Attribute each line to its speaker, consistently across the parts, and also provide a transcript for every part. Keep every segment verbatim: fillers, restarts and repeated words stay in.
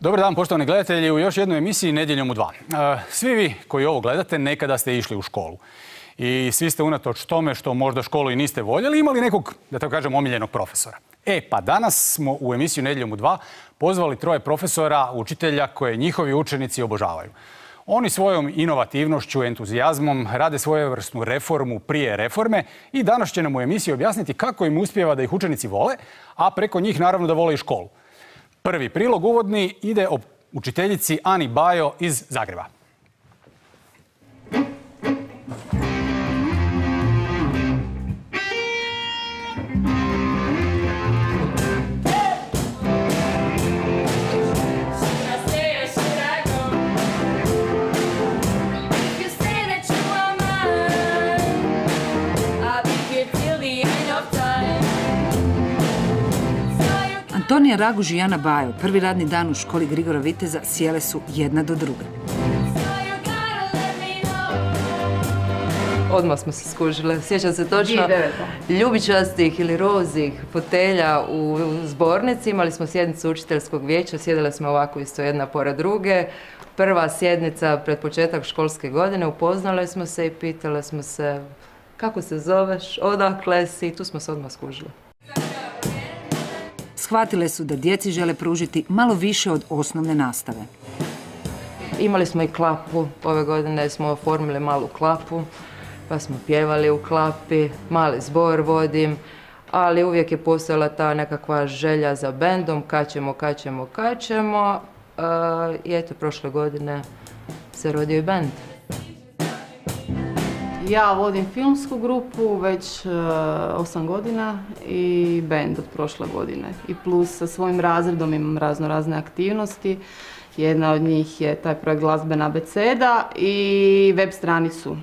Speaker 1: Dobar dan, poštovani gledatelji, u još jednoj emisiji Nedjeljom u dva. Svi vi koji ovo gledate nekada ste išli u školu. I svi ste unatoč tome što možda školu i niste voljeli imali nekog, da tako kažem, omiljenog profesora. E, pa danas smo u emisiju Nedjeljom u dva pozvali troje profesora, učitelja koje njihovi učenici obožavaju. Oni svojom inovativnošću, entuzijazmom rade svojevrsnu reformu prije reforme i danas će nam u emisiji objasniti kako im uspijeva da ih učenici vole, a preko njih naravno da vole i školu. Prvi prilog uvodni ide o učiteljici Ani Bajo iz Zagreba.
Speaker 2: Antonija Raguž i Ana Bajo, prvi radni dan u školi Grigora Viteza, sjele su jedna do druge.
Speaker 3: Odmah smo se skužile. Sjećam se točno ljubičastih ili rozih fotelja u zbornici. Imali smo sjednicu učiteljskog vijeća, sjedile smo ovako isto jedna pored druge. Prva sjednica pred početak školske godine, upoznale smo se i pitale smo se kako se zoveš, odakle si, i tu smo se odmah skužile.
Speaker 2: Shvatile su da djeci žele pružiti malo više od osnovne nastave.
Speaker 3: Imali smo i klapu, ove godine smo oformili malu klapu, pa smo pjevali u klapi, mali zbor vodim, ali uvijek je postojala ta nekakva želja za bendom, kad ćemo, kad ćemo, kad ćemo. I eto, prošle godine se rodio i bend.
Speaker 4: Ja vodim filmsku grupu već osam godina i bend od prošle godine. I plus sa svojim razredom imam razno razne aktivnosti. Jedna od njih je taj projekt Glazbena abeceda i web stranicu.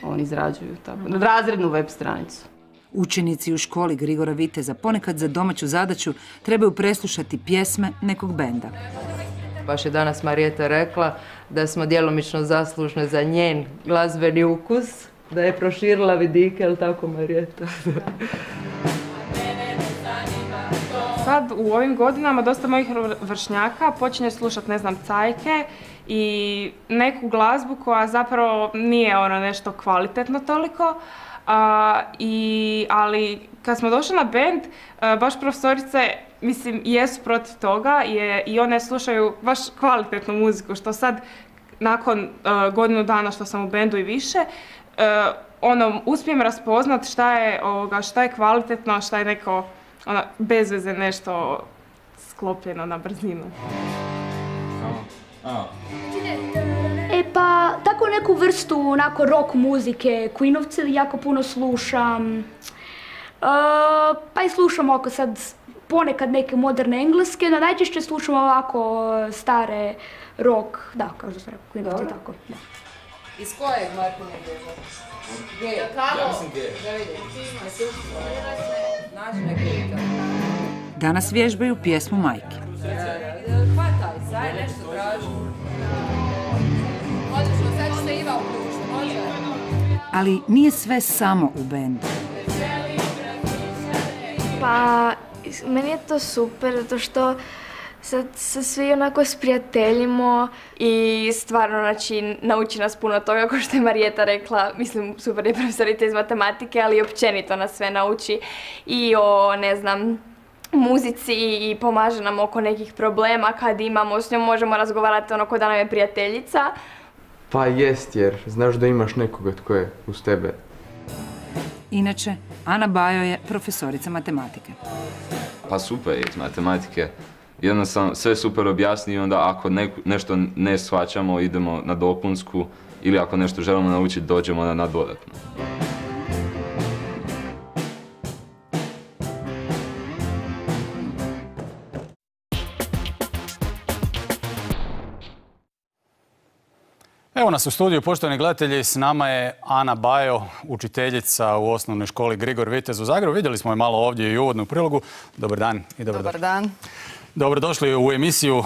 Speaker 4: Oni izrađuju tako, razrednu web stranicu.
Speaker 2: Učenici u školi Grigora Viteza ponekad za domaću zadaću trebaju preslušati pjesme nekog benda.
Speaker 3: Baš je danas Marijeta rekla da smo djelomično zaslužne za njen glazbeni ukus, da je proširila vidike, je li tako, Marijeta?
Speaker 5: Sad u ovim godinama dosta mojih vršnjaka počinje slušati, ne znam, cajke i neku glazbu koja zapravo nije ono nešto kvalitetno toliko. A, i, ali kad smo došli na bend, a, baš profesorice, mislim, jesu protiv toga je, i one slušaju baš kvalitetnu muziku, što sad, nakon a, godinu dana što sam u bendu i više, a, ono, uspijem raspoznat šta je, ovoga, šta je kvalitetno, a šta je neko ono, bez veze nešto sklopljeno na brzinu.
Speaker 6: E pa, tako neku vrstu onako rock muzike, Queenovce jako puno slušam. E, pa i slušam oko sad ponekad neke moderne engleske, no najčešće slušam ovako stare rock, da, kao što sam rekao, Queenovce, tako, da.
Speaker 3: Iz kojeg Martina bježa? Gej. Ja mislim gej. Da vidim. Nađi neke.
Speaker 2: Danas vježbaju pjesmu Majke.
Speaker 3: Hvataj, saj nešto traži. Odlično, sad će se Iva uključiti, može?
Speaker 2: Ali nije sve samo u bendu.
Speaker 7: Pa, meni je to super, zato što sad se svi onako sprijateljimo i stvarno, znači, nauči nas puno toga, kao što je Marijeta rekla, mislim, super je profesorica iz matematike, ali i općenito nas sve nauči i o, ne znam, muzici i pomaže nam oko nekih problema kad imamo, s njom možemo razgovarati ono ko da nam je prijateljica.
Speaker 8: Pa jest, jer znaš da imaš nekoga tko je uz tebe.
Speaker 2: Inače, Ana Bajo je profesorica matematike.
Speaker 9: Pa super je iz matematike. Jednostavno sve super objasni i onda ako ne, nešto ne shvaćamo idemo na dopunsku ili ako nešto želimo naučiti dođemo na, na dodatno.
Speaker 1: Evo nas u studiju, poštovani gledatelji, s nama je Ana Bajo, učiteljica u osnovnoj školi Grigor Vitez u Zagrebu. Vidjeli smo je malo ovdje i u uvodnu prilogu. Dobar dan i dobro
Speaker 4: Dobar dan.
Speaker 1: Dobrodošli u emisiju.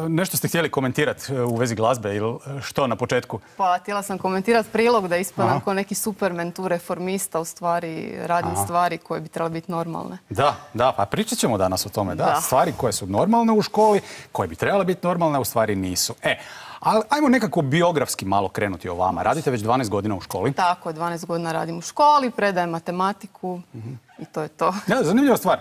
Speaker 1: Nešto ste htjeli komentirati u vezi glazbe ili što na početku?
Speaker 4: Pa htjela sam komentirati prilog da ispadam kao neki supermen tu reformista, u stvari radim Aha. stvari koje bi trebale biti normalne.
Speaker 1: Da, da, pa pričat ćemo danas o tome. Da, da. Stvari koje su normalne u školi, koje bi trebale biti normalne, u stvari nisu. E, ali ajmo nekako biografski malo krenuti o vama. Radite već dvanaest godina u školi.
Speaker 4: Tako, dvanaest godina radim u školi, predajem matematiku mm-hmm. i to je to.
Speaker 1: Ja, zanimljiva stvar.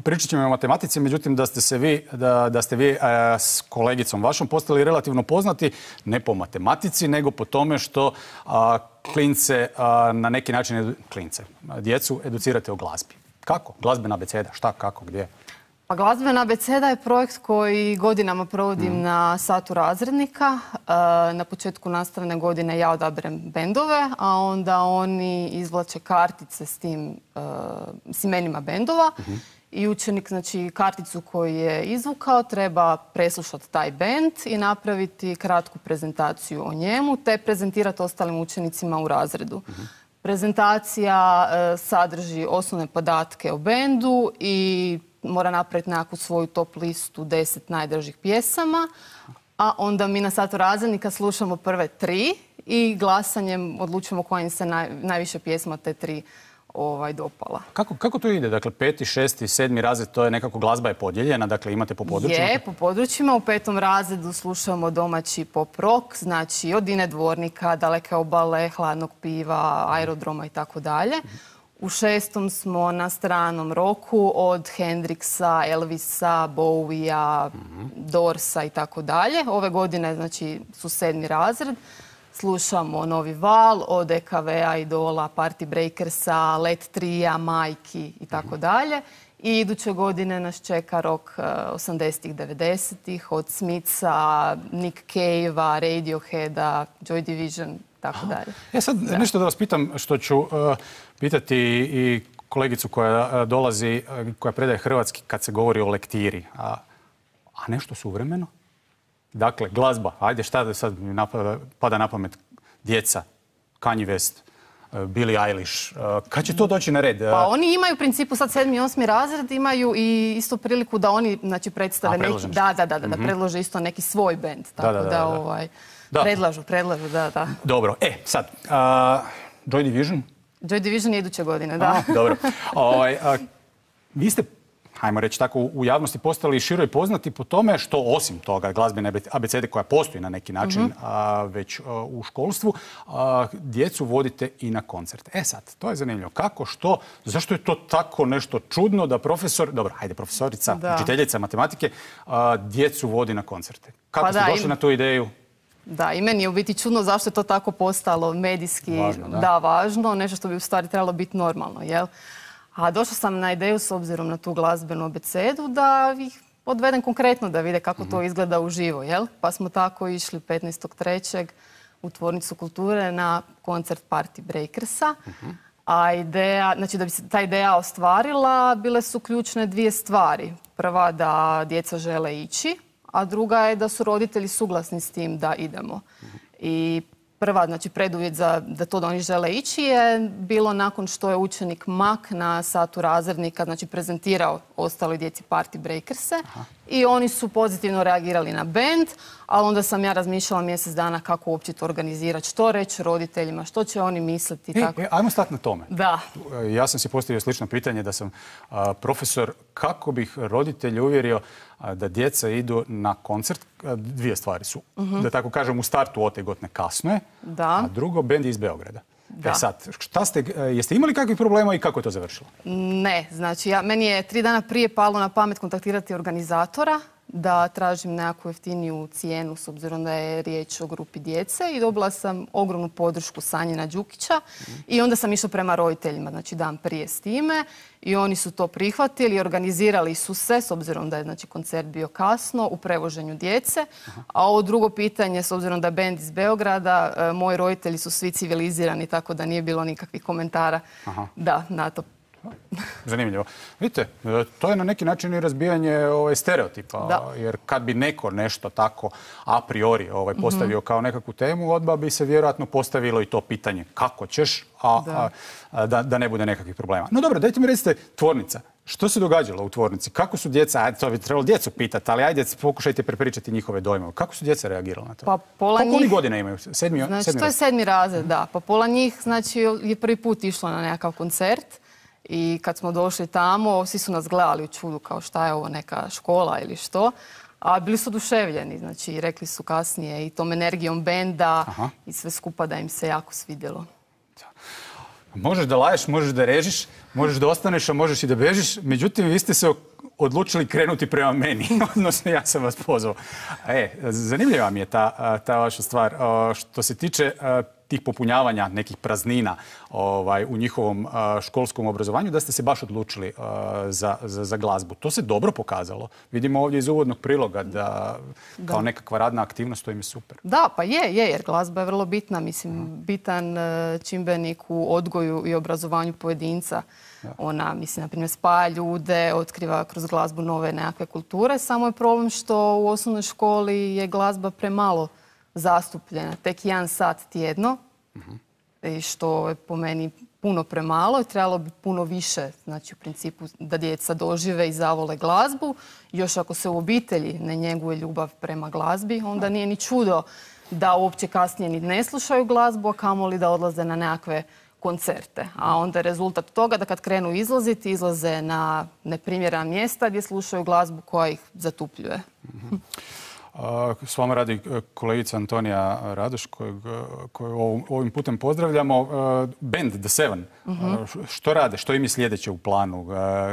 Speaker 1: Pričat ćemo o matematici, međutim da ste se vi, da, da ste vi a, s kolegicom vašom postali relativno poznati, ne po matematici, nego po tome što a, klince a, na neki način, klince, djecu educirate o glazbi. Kako? Glazbena abeceda, šta, kako, gdje?
Speaker 4: Pa Glazbena abeceda je projekt koji godinama provodim mm. na satu razrednika. Na početku nastavne godine ja odaberem bendove, a onda oni izvlače kartice s tim s imenima bendova. Mm-hmm. I učenik, znači, karticu koju je izvukao treba preslušati taj bend i napraviti kratku prezentaciju o njemu, te prezentirati ostalim učenicima u razredu. Mm-hmm. Prezentacija sadrži osnovne podatke o bendu i mora napraviti nekakvu svoju top listu deset najdražih pjesama, a onda mi na satu razrednika slušamo prve tri i glasanjem odlučujemo koja im se naj, najviše pjesma te tri ovaj, dopala.
Speaker 1: Kako, kako to ide? Dakle, peti, šesti, sedmi razred, to je nekako glazba je podijeljena, dakle imate po područjima?
Speaker 4: Je, po područjima. U petom razredu slušamo domaći pop rock, znači od Dine Dvornika, Daleke obale, Hladnog piva, Aerodroma i tako dalje. U šestom smo na stranom roku od Hendrixa, Elvisa, Bowija, mm-hmm. Dorsa i tako dalje. Ove godine, znači, su sedmi razred. Slušamo Novi val od E K V-a, Idola, Party Breakersa, Let Trija, Majki i tako dalje. I iduće godine nas čeka rok osamdesetih, devedesetih od Smitha, Nick Cave-a, Radioheada, Joy Division, tako dalje.
Speaker 1: Ja sad da. nešto da vas pitam što ću uh, pitati i kolegicu koja uh, dolazi, uh, koja predaje hrvatski kad se govori o lektiri. A, a nešto suvremeno? Dakle, glazba. Ajde, šta da sad mi napada, pada na pamet? Djeca, Kanye West, uh, Billie Eilish. Uh, kad će to doći na red?
Speaker 4: Pa oni imaju u principu sad sedmi i osmi razred, imaju i isto priliku da oni, znači, predstave neki... Da, da, da, da, mm-hmm. da predlože isto neki svoj bend. Tako da, da, da, da ovaj... Da. Predlažu, predlažu, da, da.
Speaker 1: Dobro. E, sad, uh, Joy Division?
Speaker 4: Joy Division je iduće godine, da.
Speaker 1: A, dobro. O, a, vi ste, hajmo reći tako, u javnosti postali široj poznati po tome što, osim toga glazbene abecede koja postoji na neki način mm-hmm. a, već a, u školstvu, a, djecu vodite i na koncerte. E sad, to je zanimljivo. Kako, što, zašto je to tako nešto čudno da profesor, dobro, hajde, profesorica, da. učiteljica matematike, a, djecu vodi na koncerte? Kako pa ste da, došli im... na tu ideju?
Speaker 4: Da, i meni je u biti čudno zašto je to tako postalo medijski
Speaker 1: važno, da.
Speaker 4: da, važno, nešto što bi u stvari trebalo biti normalno, jel? A došla sam na ideju s obzirom na tu glazbenu abecedu da ih odvedem konkretno da vide kako mm-hmm. to izgleda uživo, jel? Pa smo tako išli petnaestog trećeg u Tvornicu kulture na koncert Party Breakersa. Mm-hmm. A ideja, znači da bi se ta ideja ostvarila, bile su ključne dvije stvari. Prva da djeca žele ići, a druga je da su roditelji suglasni s tim da idemo. I prva, znači preduvjet za da to da oni žele ići je bilo nakon što je učenik Mak na satu razrednika, znači prezentirao ostaloj djeci Party Breakerse. Aha. I oni su pozitivno reagirali na bend, ali onda sam ja razmišljala mjesec dana kako uopće to organizirati, što reći roditeljima, što će oni misliti.
Speaker 1: E, tako. E, ajmo stati na tome.
Speaker 4: Da.
Speaker 1: Ja sam si postavio slično pitanje da sam a, profesor, kako bih roditelj uvjerio a, da djeca idu na koncert. A, dvije stvari su, uh-huh. da tako kažem, u startu otegotne, kasno je,
Speaker 4: da.
Speaker 1: a drugo, bend je iz Beograda. Da. E sad, šta ste, jeste imali kakvih problema i kako je to završilo?
Speaker 4: Ne, znači ja, meni je tri dana prije palo na pamet kontaktirati organizatora da tražim nekakvu jeftiniju cijenu s obzirom da je riječ o grupi djece i dobila sam ogromnu podršku Sanjina Đukića mm. i onda sam išla prema roditeljima, znači dan prije s time i oni su to prihvatili, organizirali su se s obzirom da je znači, koncert bio kasno u prevoženju djece. Aha. A ovo drugo pitanje, s obzirom da je bend iz Beograda, e, moji roditelji su svi civilizirani tako da nije bilo nikakvih komentara. Aha. Da, na to
Speaker 1: Zanimljivo. Vidite, to je na neki način i razbijanje ovaj, stereotipa.
Speaker 10: Da.
Speaker 1: Jer kad bi neko nešto tako a priori ovaj, postavio mm-hmm. kao nekakvu temu, odmah bi se vjerojatno postavilo i to pitanje kako ćeš, a da, a, da, da ne bude nekakvih problema. No dobro, dajte mi recite, tvornica. Što se događalo u tvornici? Kako su djeca, ajde, to bi trebalo djecu pitati, ali ajde, pokušajte prepričati njihove dojmove. Kako su djeca reagirala na to?
Speaker 10: Pa pola
Speaker 1: Koliko
Speaker 10: njih...
Speaker 1: oni godina imaju? Sedmi,
Speaker 10: znači,
Speaker 1: sedmi
Speaker 10: to je sedmi razred, da. Pa pola njih, znači, je prvi put išlo na nekakav koncert i kad smo došli tamo, svi su nas gledali u čudu kao šta je ovo, neka škola ili što. A bili su oduševljeni, znači, rekli su kasnije i tom energijom benda Aha. i sve skupa da im se jako svidjelo.
Speaker 1: Možeš da laješ, možeš da režiš, možeš da ostaneš, a možeš i da bežiš. Međutim, vi ste se odlučili krenuti prema meni. Odnosno, ja sam vas pozvao. E, zanimljiva mi je ta, ta vaša stvar. Što se tiče tih popunjavanja nekih praznina ovaj, u njihovom a, školskom obrazovanju, da ste se baš odlučili a, za, za, za glazbu. To se dobro pokazalo. Vidimo ovdje iz uvodnog priloga da, da. kao nekakva radna aktivnost, to im je super.
Speaker 10: Da, pa je, je, jer glazba je vrlo bitna. Mislim, bitan čimbenik u odgoju i obrazovanju pojedinca. Da. Ona, mislim, na primjer, spaja ljude, otkriva kroz glazbu nove nekakve kulture. Samo je problem što u osnovnoj školi je glazba premalo zastupljena, tek jedan sat tjedno, uh-huh. i što je po meni puno premalo i trebalo bi puno više, znači u principu da djeca dožive i zavole glazbu. Još ako se u obitelji ne njeguje ljubav prema glazbi, onda nije ni čudo da uopće kasnije ni ne slušaju glazbu, a kamoli da odlaze na nekakve koncerte. A onda je rezultat toga da kad krenu izlaziti, izlaze na neprimjerena mjesta gdje slušaju glazbu koja ih zatupljuje.
Speaker 1: Uh-huh. S vama radi kolegica Antonija Radoš, koju ovim putem pozdravljamo. Band The Seven. Uh-huh. Što rade? Što im je sljedeće u planu?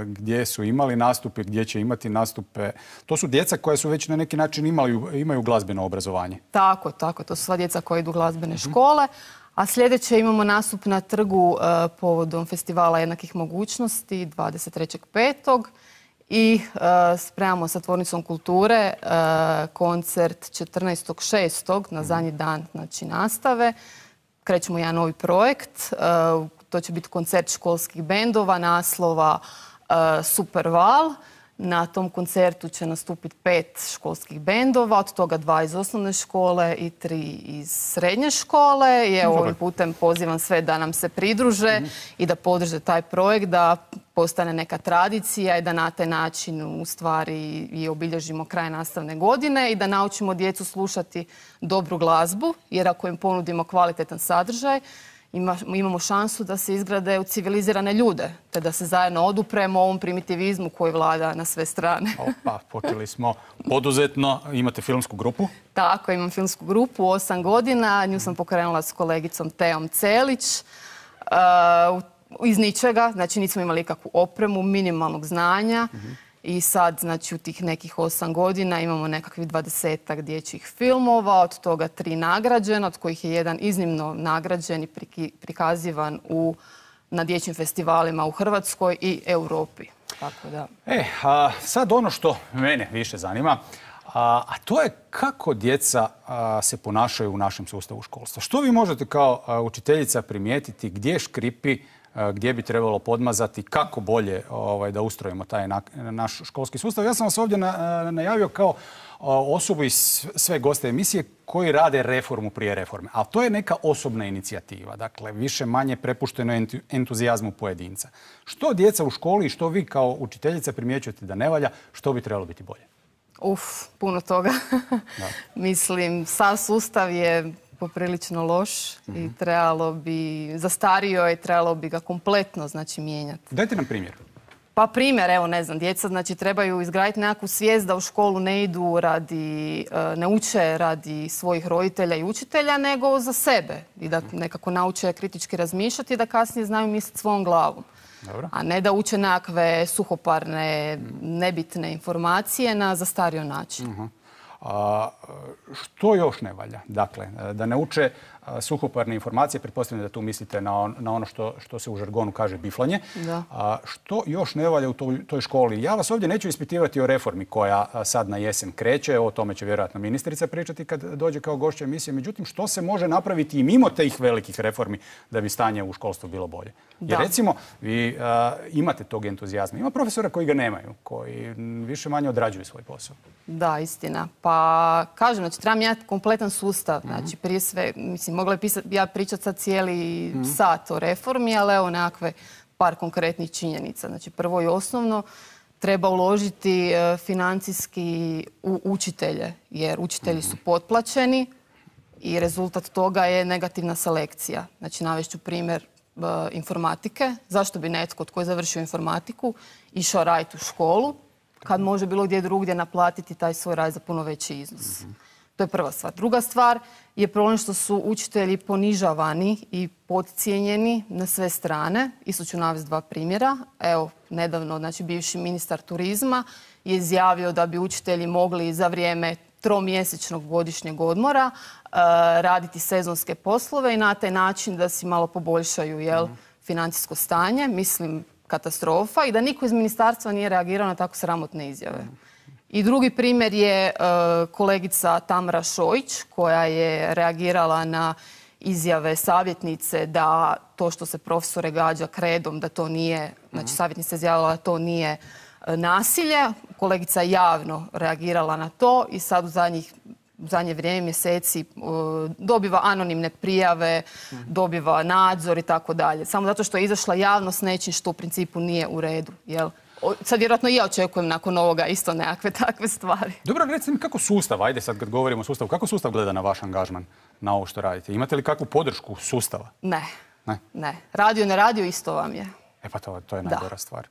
Speaker 1: Gdje su imali nastupe? Gdje će imati nastupe? To su djeca koja su već na neki način imali, imaju glazbeno obrazovanje.
Speaker 10: Tako, tako. To su sva djeca koja idu u glazbene uh-huh. škole. A sljedeće imamo nastup na trgu uh, povodom festivala jednakih mogućnosti dvadeset trećeg petog i uh, spremamo sa Tvornicom kulture uh, koncert četrnaestog šestog na zadnji dan, znači, nastave. Krećemo jedan novi projekt. Uh, to će biti koncert školskih bendova naslova uh, Super Val. Na tom koncertu će nastupiti pet školskih bendova, od toga dva iz osnovne škole i tri iz srednje škole. I evo, ovim putem pozivam sve da nam se pridruže mm. i da podrže taj projekt, da postane neka tradicija i da na taj način u stvari i obilježimo kraj nastavne godine i da naučimo djecu slušati dobru glazbu, jer ako im ponudimo kvalitetan sadržaj, imamo šansu da se izgrade u civilizirane ljude, te da se zajedno odupremo ovom primitivizmu koji vlada na sve strane.
Speaker 1: Opa, počeli smo poduzetno. Imate filmsku grupu?
Speaker 10: Tako, imam filmsku grupu, osam godina. Nju sam pokrenula s kolegicom Teom Celić. Uh, iz ničega, znači nismo imali kakvu opremu, minimalnog znanja. Uh-huh. I sad, znači, u tih nekih osam godina imamo nekakvih dvadesetak dječjih filmova, od toga tri nagrađena, od kojih je jedan iznimno nagrađen i prikazivan u, na dječjim festivalima u Hrvatskoj i Europi. Tako da.
Speaker 1: E, a sad ono što mene više zanima, a, a to je kako djeca a, se ponašaju u našem sustavu školstva. Što vi možete kao a, učiteljica primijetiti gdje škripi, gdje bi trebalo podmazati, kako bolje ovaj, da ustrojimo taj na, naš školski sustav. Ja sam vas ovdje na, najavio kao osobu iz sve goste emisije koji rade reformu prije reforme. Ali to je neka osobna inicijativa. Dakle, više manje prepušteno entuzijazmu pojedinca. Što djeca u školi i što vi kao učiteljica primjećujete da ne valja, što bi trebalo biti bolje?
Speaker 10: Uf, puno toga. Mislim, sav sustav je poprilično loš mm-hmm. i trebalo bi, zastario je, trebalo bi ga kompletno, znači, mijenjati.
Speaker 1: Dajte nam primjer.
Speaker 10: Pa primjer, evo, ne znam, djeca, znači, trebaju izgraditi nekakvu svijest da u školu ne idu radi, ne uče radi svojih roditelja i učitelja, nego za sebe. I da nekako nauče kritički razmišljati i da kasnije znaju misliti svojom glavom. Dobro. A ne da uče nekakve suhoparne, nebitne informacije na zastario način. Uh-huh.
Speaker 1: A, što još ne valja? Dakle, da ne uče suhoparne informacije. Pretpostavljam da tu mislite na, on, na ono što, što se u žargonu kaže biflanje.
Speaker 10: Da.
Speaker 1: A, što još ne valja u toj, toj školi? Ja vas ovdje neću ispitivati o reformi koja sad na jesen kreće. O tome će vjerojatno ministrica pričati kad dođe kao gošća emisije. Međutim, što se može napraviti i mimo tih velikih reformi da bi stanje u školstvu bilo bolje?
Speaker 10: Da.
Speaker 1: Jer recimo, vi a, imate tog entuzijazma. Ima profesora koji ga nemaju, koji više manje odrađuju svoj posao.
Speaker 10: Da, istina. Pa kažem, znači treba mijenjati kompletan sustav. Znači prije sve, mislim, mogla je pisati, ja pričati sad cijeli mm-hmm. sat o reformi, ali evo nekakve par konkretnih činjenica. Znači prvo i osnovno treba uložiti e, financijski u učitelje, jer učitelji mm-hmm. su potplaćeni i rezultat toga je negativna selekcija. Znači navešću primjer e, informatike. Zašto bi netko tko je završio informatiku išao raditi u školu kad može bilo gdje drugdje naplatiti taj svoj rad za puno veći iznos. Mm-hmm. To je prva stvar. Druga stvar je problem što su učitelji ponižavani i podcijenjeni na sve strane. Isto ću navesti dva primjera. Evo, nedavno, znači, bivši ministar turizma je izjavio da bi učitelji mogli za vrijeme tromjesečnog godišnjeg odmora uh, raditi sezonske poslove i na taj način da si malo poboljšaju jel, mm. financijsko stanje. Mislim, katastrofa i da niko iz ministarstva nije reagirao na tako sramotne izjave. I drugi primjer je uh, kolegica Tamara Šojić koja je reagirala na izjave savjetnice da to što se profesore gađa kredom, da to nije, znači savjetnica izjavila da to nije uh, nasilje. Kolegica je javno reagirala na to i sad u zadnjih u zadnje vrijeme, mjeseci, uh, dobiva anonimne prijave, mm. dobiva nadzor i tako dalje. Samo zato što je izašla javnost nečim što u principu nije u redu. Jel? Sad vjerojatno i ja očekujem nakon ovoga isto nekakve takve stvari.
Speaker 1: Dobro, recite mi kako sustav, ajde sad kad govorimo o sustavu, kako sustav gleda na vaš angažman, na ovo što radite? Imate li kakvu podršku sustava?
Speaker 10: Ne.
Speaker 1: Ne?
Speaker 10: Ne. Radio, ne radio, isto vam je.
Speaker 1: E pa to, to je najgora
Speaker 10: da.
Speaker 1: stvar.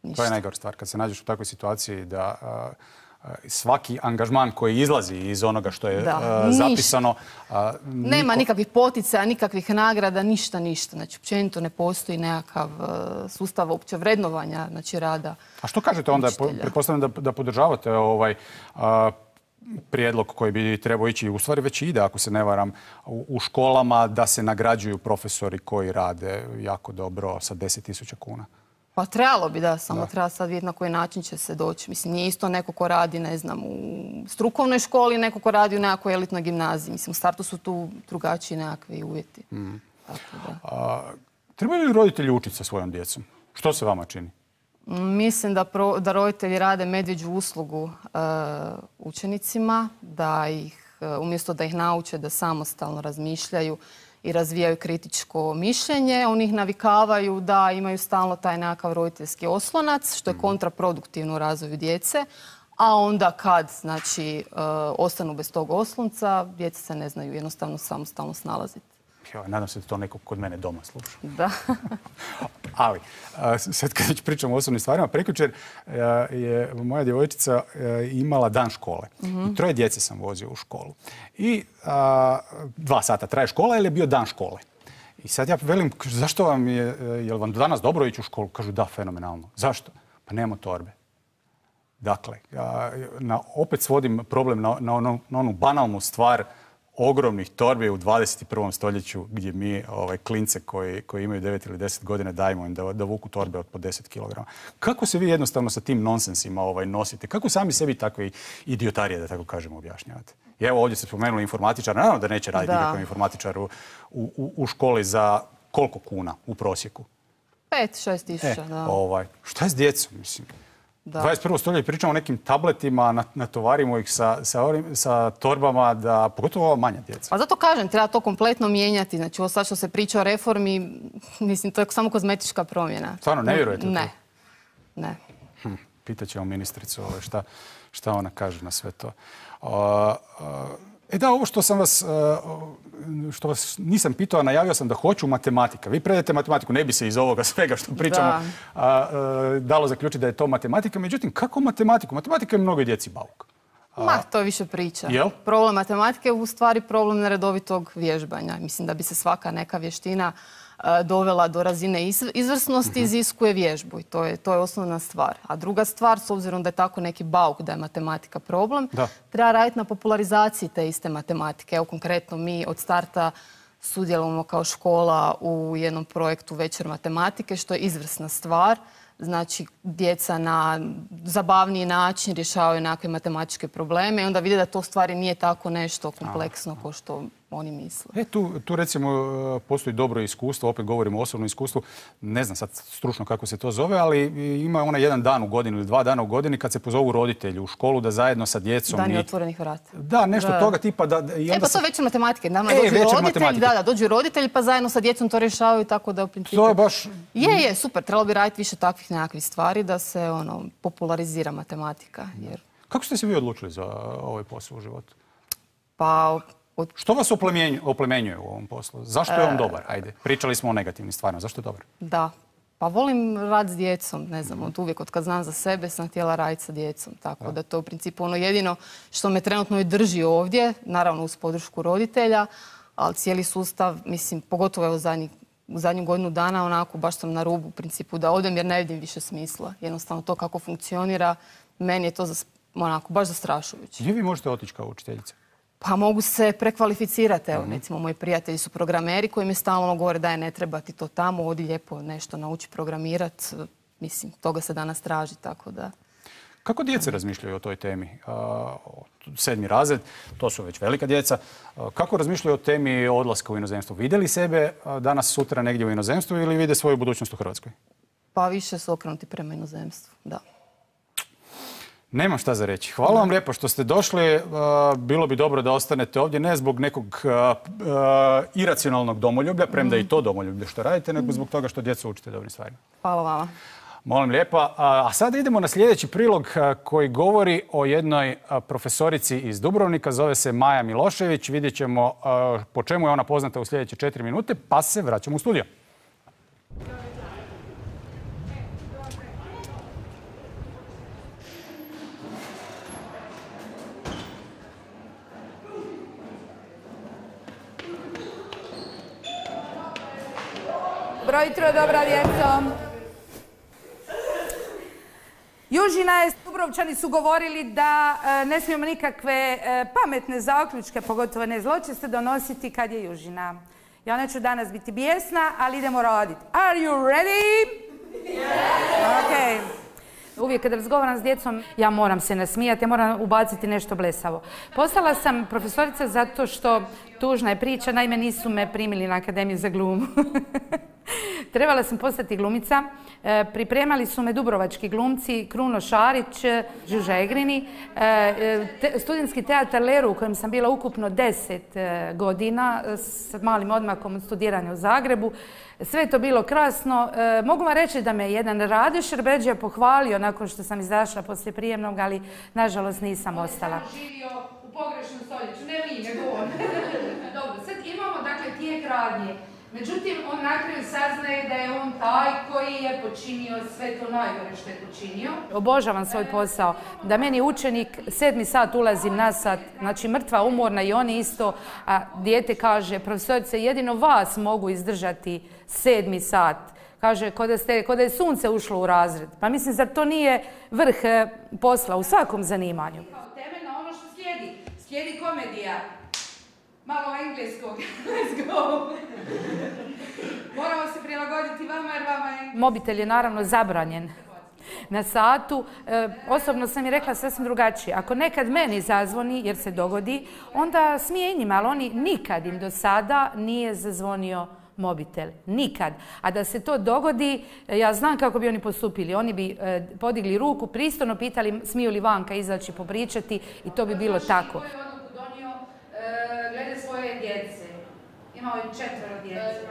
Speaker 10: Ništa.
Speaker 1: To je najgora stvar. Kad se nađeš u takvoj situaciji da uh, svaki angažman koji izlazi iz onoga što je
Speaker 10: da,
Speaker 1: uh, zapisano... Uh, niko...
Speaker 10: Nema nikakvih poticaja, nikakvih nagrada, ništa, ništa. Znači, općenito ne postoji nekakav uh, sustav opće vrednovanja, znači, rada. A
Speaker 1: što kažete onda? Pretpostavljam da, da podržavate ovaj... Uh, prijedlog koji bi trebao ići, u stvari već ide, ako se ne varam, u, u školama da se nagrađuju profesori koji rade jako dobro sa deset tisuća kuna.
Speaker 10: Pa trebalo bi, da, samo da. Treba sad vidjeti na koji način će se doći. Mislim, nije isto neko ko radi, ne znam, u strukovnoj školi, neko ko radi u nekakvoj elitnoj gimnaziji. Mislim, u startu su tu drugačiji nekakvi uvjeti. Mm. Tako da.
Speaker 1: A, trebaju li roditelji učiti sa svojom djecom? Što se vama čini?
Speaker 10: Mislim da, pro, da roditelji rade medvjeđu uslugu uh, učenicima, da ih, uh, umjesto da ih nauče da samostalno razmišljaju i razvijaju kritičko mišljenje, oni ih navikavaju da imaju stalno taj nekakav roditeljski oslonac, što je kontraproduktivno u razvoju djece, a onda kad znači, uh, ostanu bez tog oslonca, djeca se ne znaju jednostavno samostalno snalaziti.
Speaker 1: Jo, nadam se da to neko kod mene doma sluša.
Speaker 10: Da.
Speaker 1: Ali, sad kad već pričamo o osobnim stvarima, prekjučer je moja djevojčica imala dan škole. Mm-hmm. I troje djece sam vozio u školu. I a, dva sata traje škola ili je bio dan škole. I sad ja velim, zašto vam je, je li vam danas dobro ići u školu? Kažu da, fenomenalno. Zašto? Pa nemamo torbe. Dakle, ja, na, opet svodim problem na, na, ono, na onu banalnu stvar ogromnih torbi u dvadeset prvom stoljeću gdje mi ovaj, klince koji, koji imaju devet ili deset godina dajemo im da, da vuku torbe od po deset kilograma. Kako se vi jednostavno sa tim nonsensima ovaj, nosite? Kako sami sebi takve idiotarije, da tako kažemo, objašnjavate? I evo ovdje se spomenuli informatičar. Naravno da neće raditi nikakav informatičar u, u, u školi za koliko kuna u prosjeku?
Speaker 10: Pet, šest tisuća,
Speaker 1: e,
Speaker 10: da.
Speaker 1: Ovaj, šta je s djecom, mislim?
Speaker 10: Da.
Speaker 1: dvadeset prvo stoljeće pričamo o nekim tabletima, natovarimo ih sa, sa, ovim, sa torbama, da, pogotovo ova manja djeca.
Speaker 10: Pa zato kažem, treba to kompletno mijenjati. Znači, ovo sad što se priča o reformi, mislim, to je samo kozmetička promjena.
Speaker 1: Stvarno, ne vjerujete
Speaker 10: ne.
Speaker 1: to?
Speaker 10: Ne.
Speaker 1: Hm, pitaćemo ministricu ovaj, šta, šta ona kaže na sve to. Uh, uh, E da, ovo što sam vas, što vas nisam pitao, a najavio sam da hoću matematika. Vi predajete matematiku, ne bi se iz ovoga svega što pričamo da. A, a, dalo zaključiti da je to matematika. Međutim, kako matematiku? Matematika je mnogo djeci bauk. A... Ma,
Speaker 10: to je više priča.
Speaker 1: Jel?
Speaker 10: Problem matematike je u stvari problem neredovitog vježbanja. Mislim da bi se svaka neka vještina dovela do razine izvrsnosti, uh-huh. iziskuje vježbu i to je, to je osnovna stvar. A druga stvar, s obzirom da je tako neki bauk da je matematika problem, da. treba raditi na popularizaciji te iste matematike. Evo konkretno mi od starta sudjelujemo kao škola u jednom projektu Večer matematike, što je izvrsna stvar. Znači, djeca na zabavniji način rješavaju nekakve matematičke probleme i onda vide da to u stvari nije tako nešto kompleksno kao što oni misle.
Speaker 1: E, tu, tu recimo postoji dobro iskustvo, opet govorimo o osobnom iskustvu, ne znam sad stručno kako se to zove, ali ima onaj jedan dan u godini ili dva dana u godini kad se pozovu roditelji u školu da zajedno sa djecom...
Speaker 10: Dan
Speaker 1: i...
Speaker 10: otvorenih vrata.
Speaker 1: Da, nešto
Speaker 10: da.
Speaker 1: toga tipa da... I onda
Speaker 10: e, pa to
Speaker 1: se...
Speaker 10: je večer matematike. Nama
Speaker 1: e,
Speaker 10: dođu roditelji,
Speaker 1: matematike.
Speaker 10: da, da, dođu roditelji pa zajedno sa djecom to rješavaju tako da u principu...
Speaker 1: To je baš...
Speaker 10: Je, je, super. Trebalo bi raditi više takvih nekakvih stvari da se ono, popularizira matematika. Jer...
Speaker 1: Kako ste se vi odlučili za ovaj posao u životu?
Speaker 10: Pa...
Speaker 1: Od... Što vas oplemenjuje u ovom poslu? Zašto je on dobar? Ajde, pričali smo o negativnim stvarima. Zašto je dobar?
Speaker 10: Da. Pa volim rad s djecom, ne znam, od uvijek, od kad znam za sebe sam htjela raditi sa djecom. Tako da, da to u principu ono jedino što me trenutno i drži ovdje, naravno uz podršku roditelja, ali cijeli sustav, mislim, pogotovo evo zadnji, u zadnju godinu dana, onako, baš sam na rubu u principu da odem jer ne vidim više smisla. Jednostavno to kako funkcionira, meni je to zas, onako, baš zastrašujuće.
Speaker 1: Gdje vi možete otići kao učiteljica?
Speaker 10: Pa mogu se prekvalificirati. Evo, recimo, moji prijatelji su programeri koji mi stalno govore da je ne treba ti to tamo, odi lijepo nešto nauči programirati. Mislim, toga se danas traži, tako da...
Speaker 1: Kako djece razmišljaju o toj temi? Sedmi razred, to su već velika djeca. Kako razmišljaju o temi odlaska u inozemstvo? Vide li sebe danas, sutra negdje u inozemstvu ili vide svoju budućnost u Hrvatskoj?
Speaker 10: Pa više su okrenuti prema inozemstvu, da.
Speaker 1: Nemam šta za reći. Hvala vam lijepo što ste došli. Bilo bi dobro da ostanete ovdje, ne zbog nekog iracionalnog domoljublja, premda i to domoljublje što radite, nego zbog toga što djecu učite dobrim stvarima.
Speaker 10: Hvala vama.
Speaker 1: Molim lijepa. A sada idemo na sljedeći prilog koji govori o jednoj profesorici iz Dubrovnika. Zove se Maja Milošević. Vidjet ćemo po čemu je ona poznata u sljedeće četiri minute, pa se vraćamo u studio.
Speaker 11: Dobro jutro, dobra djeco. Južina je, Dubrovčani su govorili da e, ne smijemo nikakve e, pametne zaključke, pogotovo ne zločeste, donositi kad je južina. Ja neću danas biti bijesna, ali idemo raditi. Are you ready? Yeah. Okay. Uvijek kad razgovaram s djecom, ja moram se nasmijati, ja moram ubaciti nešto blesavo. Postala sam profesorica zato što, tužna je priča, naime nisu me primili na Akademiju za glumu. Trebala sam postati glumica. E, pripremali su me dubrovački glumci Kruno Šarić, Žuža Egrini, e, te, studentski teatar Leru u kojem sam bila ukupno deset e, godina s malim odmakom od studiranja u Zagrebu. Sve je to bilo krasno. E, mogu vam reći da me jedan Rade Šerbeđija pohvalio nakon što sam izašla poslije prijemnog, ali nažalost nisam ostala. On živio u pogrešnom stoljeću, ne mi, nego on. Dobro, sad imamo dakle tijek radnje. Međutim, on na kraju saznaje da je on taj koji je počinio sve to najgore što je počinio. Obožavam svoj posao. Da meni učenik sedmi sat ulazim na sat, znači mrtva, umorna i oni isto, a dijete kaže, profesorice, jedino vas mogu izdržati sedmi sat. Kaže, ko da, ste, ko da je sunce ušlo u razred. Pa mislim, zar to nije vrh posla u svakom zanimanju? Temeljno ono što slijedi. Slijedi komedija. Malo engleskog. Let's go. Moramo se prilagoditi vama jer vama je... Mobitel je naravno zabranjen na satu. E, osobno sam i rekla sasvim drugačije. Ako nekad meni zazvoni, jer se dogodi, onda smije i njima, ali oni nikad im do sada nije zazvonio mobitel. Nikad. A da se to dogodi, ja znam kako bi oni postupili. Oni bi e, podigli ruku, pristojno pitali smiju li vanka izaći popričati i to bi bilo tako. Glede svoje djece. Imao je četvero djece.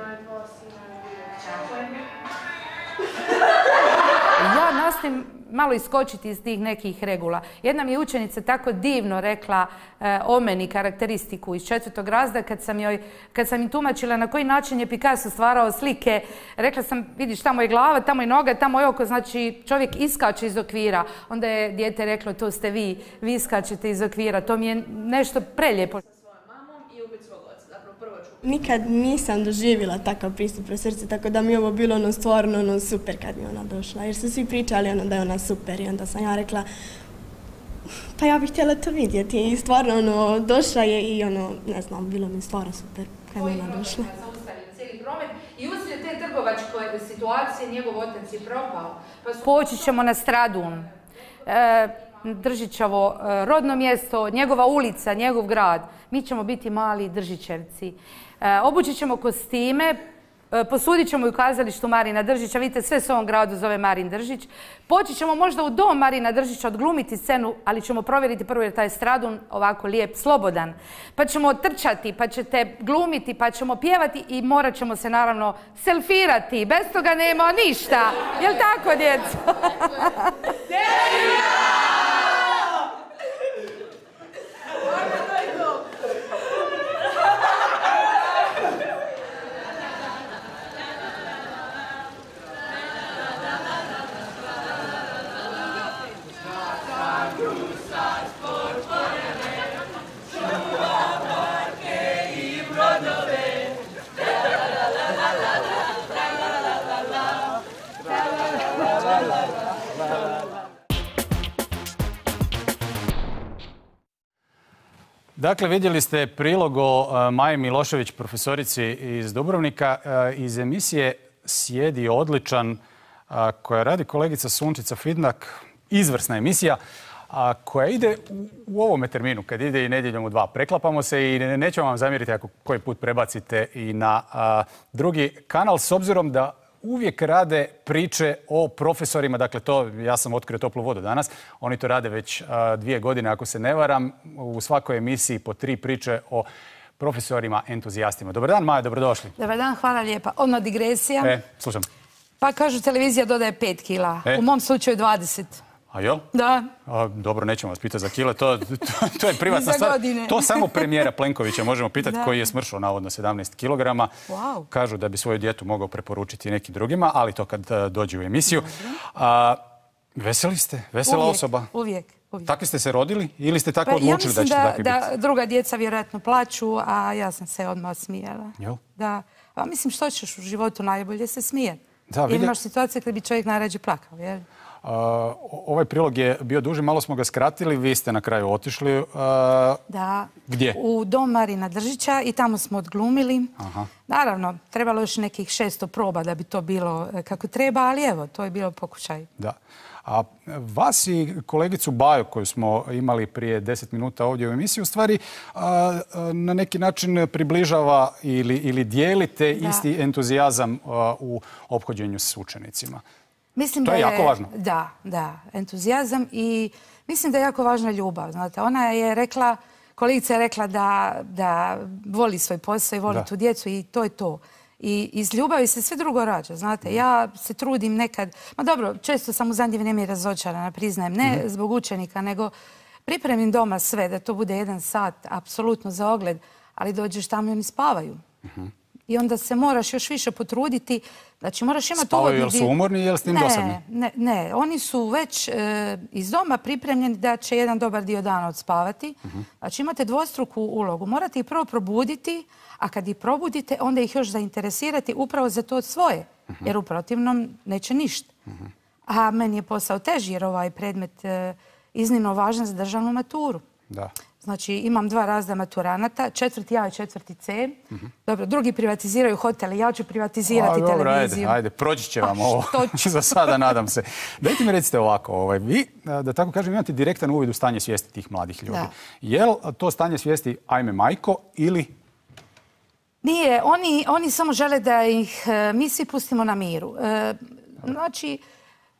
Speaker 11: Ja nastojim malo iskočiti iz tih nekih regula. Jedna mi je učenica tako divno rekla e, o meni karakteristiku iz četvrtog razreda kad sam joj, kad sam im tumačila na koji način je Picasso stvarao slike. Rekla sam, vidiš, tamo je glava, tamo je noga, tamo je oko, znači čovjek iskače iz okvira. Onda je dijete reklo, to ste vi, vi iskačete iz okvira. To mi je nešto prelijepo.
Speaker 12: Nikad nisam doživjela takav pristup profesorice, tako da mi je ovo bilo ono stvarno ono super kad mi ona došla. Jer su svi pričali ono da je ona super i onda sam ja rekla pa ja bih htjela to vidjeti i stvarno ono došla je i ono ne znam, bilo mi stvarno super. kad je ona došla.
Speaker 11: I uslijed te trgovačke situacije njegov otac je propao. Poći ćemo na Stradun, Držićevo rodno mjesto, njegova ulica, njegov grad. Mi ćemo biti mali Držićevci. Obučit ćemo kostime, posudit ćemo i u kazalištu Marina Držića. Vidite, sve se u ovom gradu zove Marin Držić. Poći ćemo možda u dom Marina Držića odglumiti scenu, ali ćemo provjeriti prvo jer taj Stradun ovako lijep, slobodan. Pa ćemo trčati, pa ćete glumiti, pa ćemo pjevati i morat ćemo se naravno selfirati. Bez toga nema ništa. Jel' tako, djeco?
Speaker 1: Dakle, vidjeli ste prilog o Maji Milošević, profesorici iz Dubrovnika, iz emisije Sjedi odličan, koja radi kolegica Sunčica Fidnak. Izvrsna emisija, koja ide u ovome terminu, kad ide i nedjeljom u dva. Preklapamo se i nećemo vam zamjeriti ako koji put prebacite i na drugi kanal, s obzirom da uvijek rade priče o profesorima. Dakle, to, ja sam otkrio toplu vodu danas. Oni to rade već a, dvije godine, ako se ne varam. U svakoj emisiji po tri priče o profesorima entuzijastima. Dobar dan, Maja, dobrodošli.
Speaker 11: Dobar dan, hvala lijepa. Odmah digresija.
Speaker 1: E, slušam.
Speaker 11: Pa kažu, televizija dodaje pet kila. E? U mom slučaju dvadeset.
Speaker 1: A jel?
Speaker 11: Da.
Speaker 1: A, dobro, nećemo vas pitati za kile, to, to, to je privatna stvar. To samo premijera Plenkovića možemo pitati, koji je smršao navodno sedamnaest kilograma.
Speaker 11: Wow.
Speaker 1: Kažu da bi svoju dijetu mogao preporučiti nekim drugima, ali to kad uh, dođe u emisiju. A, veseli ste? Vesela
Speaker 11: uvijek,
Speaker 1: osoba?
Speaker 11: Uvijek, uvijek.
Speaker 1: Takvi ste se rodili ili ste tako
Speaker 11: pa,
Speaker 1: odlučili
Speaker 11: ja
Speaker 1: da ćete
Speaker 11: da,
Speaker 1: takvi biti?
Speaker 11: da druga djeca vjerojatno plaću, a ja sam se odmah smijela.
Speaker 1: Jel?
Speaker 11: Da. A mislim, što ćeš u životu najbolje se smije.
Speaker 1: Da,
Speaker 11: vidje... imaš situacije kad bi čovjek najrađe plakao, jel?
Speaker 1: Uh, ovaj prilog je bio duži, malo smo ga skratili, vi ste na kraju otišli. Uh,
Speaker 11: da.
Speaker 1: Gdje?
Speaker 11: U dom Marina Držića i tamo smo odglumili.
Speaker 1: Aha.
Speaker 11: Naravno, trebalo još nekih šesto proba da bi to bilo kako treba, ali evo, to je bilo pokušaj.
Speaker 1: Da. A vas i kolegicu Baju, koju smo imali prije deset minuta ovdje u emisiji, u stvari a, a, na neki način približava ili, ili dijelite da. isti entuzijazam a, u ophođenju s učenicima.
Speaker 11: Mislim
Speaker 1: to je,
Speaker 11: da je
Speaker 1: jako važno.
Speaker 11: Da, da, entuzijazam i mislim da je jako važna ljubav. Znate, ona je rekla, kolegica je rekla da, da voli svoj posao i voli da. tu djecu i to je to. I iz ljubavi se sve drugo rađa, znate. Ja se trudim nekad, ma dobro, često sam u zadnje vrijeme razočarana, priznajem, ne mm-hmm. zbog učenika, nego pripremim doma sve, da to bude jedan sat, apsolutno za ogled, ali dođeš tamo i oni spavaju. Mm-hmm. I onda se moraš još više potruditi, znači moraš imati...
Speaker 1: Spavaju, jel su umorni, jel s tim dosadni?
Speaker 11: Ne, ne, oni su već e, iz doma pripremljeni da će jedan dobar dio dana odspavati. Uh-huh. Znači imate dvostruku ulogu. Morate ih prvo probuditi, a kad ih probudite, onda ih još zainteresirati upravo za to svoje, uh-huh. jer u protivnom neće ništa. Uh-huh. A meni je posao teži jer ovaj predmet e, iznimno važan za državnu maturu.
Speaker 1: Da.
Speaker 11: Znači, imam dva razda maturanata, četvrti A i četvrti C. Mm-hmm. Dobro, drugi privatiziraju hotele, ja ću privatizirati A, dobro, televiziju.
Speaker 1: Ajde, ajde, proći će vam ovo za sada, nadam se. Dajte mi recite ovako, ovaj, vi, da tako kažem, imate direktan uvid u stanje svijesti tih mladih ljudi. Da. Jel to stanje svijesti ajme majko ili...
Speaker 11: Nije, oni, oni samo žele da ih mi svi pustimo na miru. E, znači...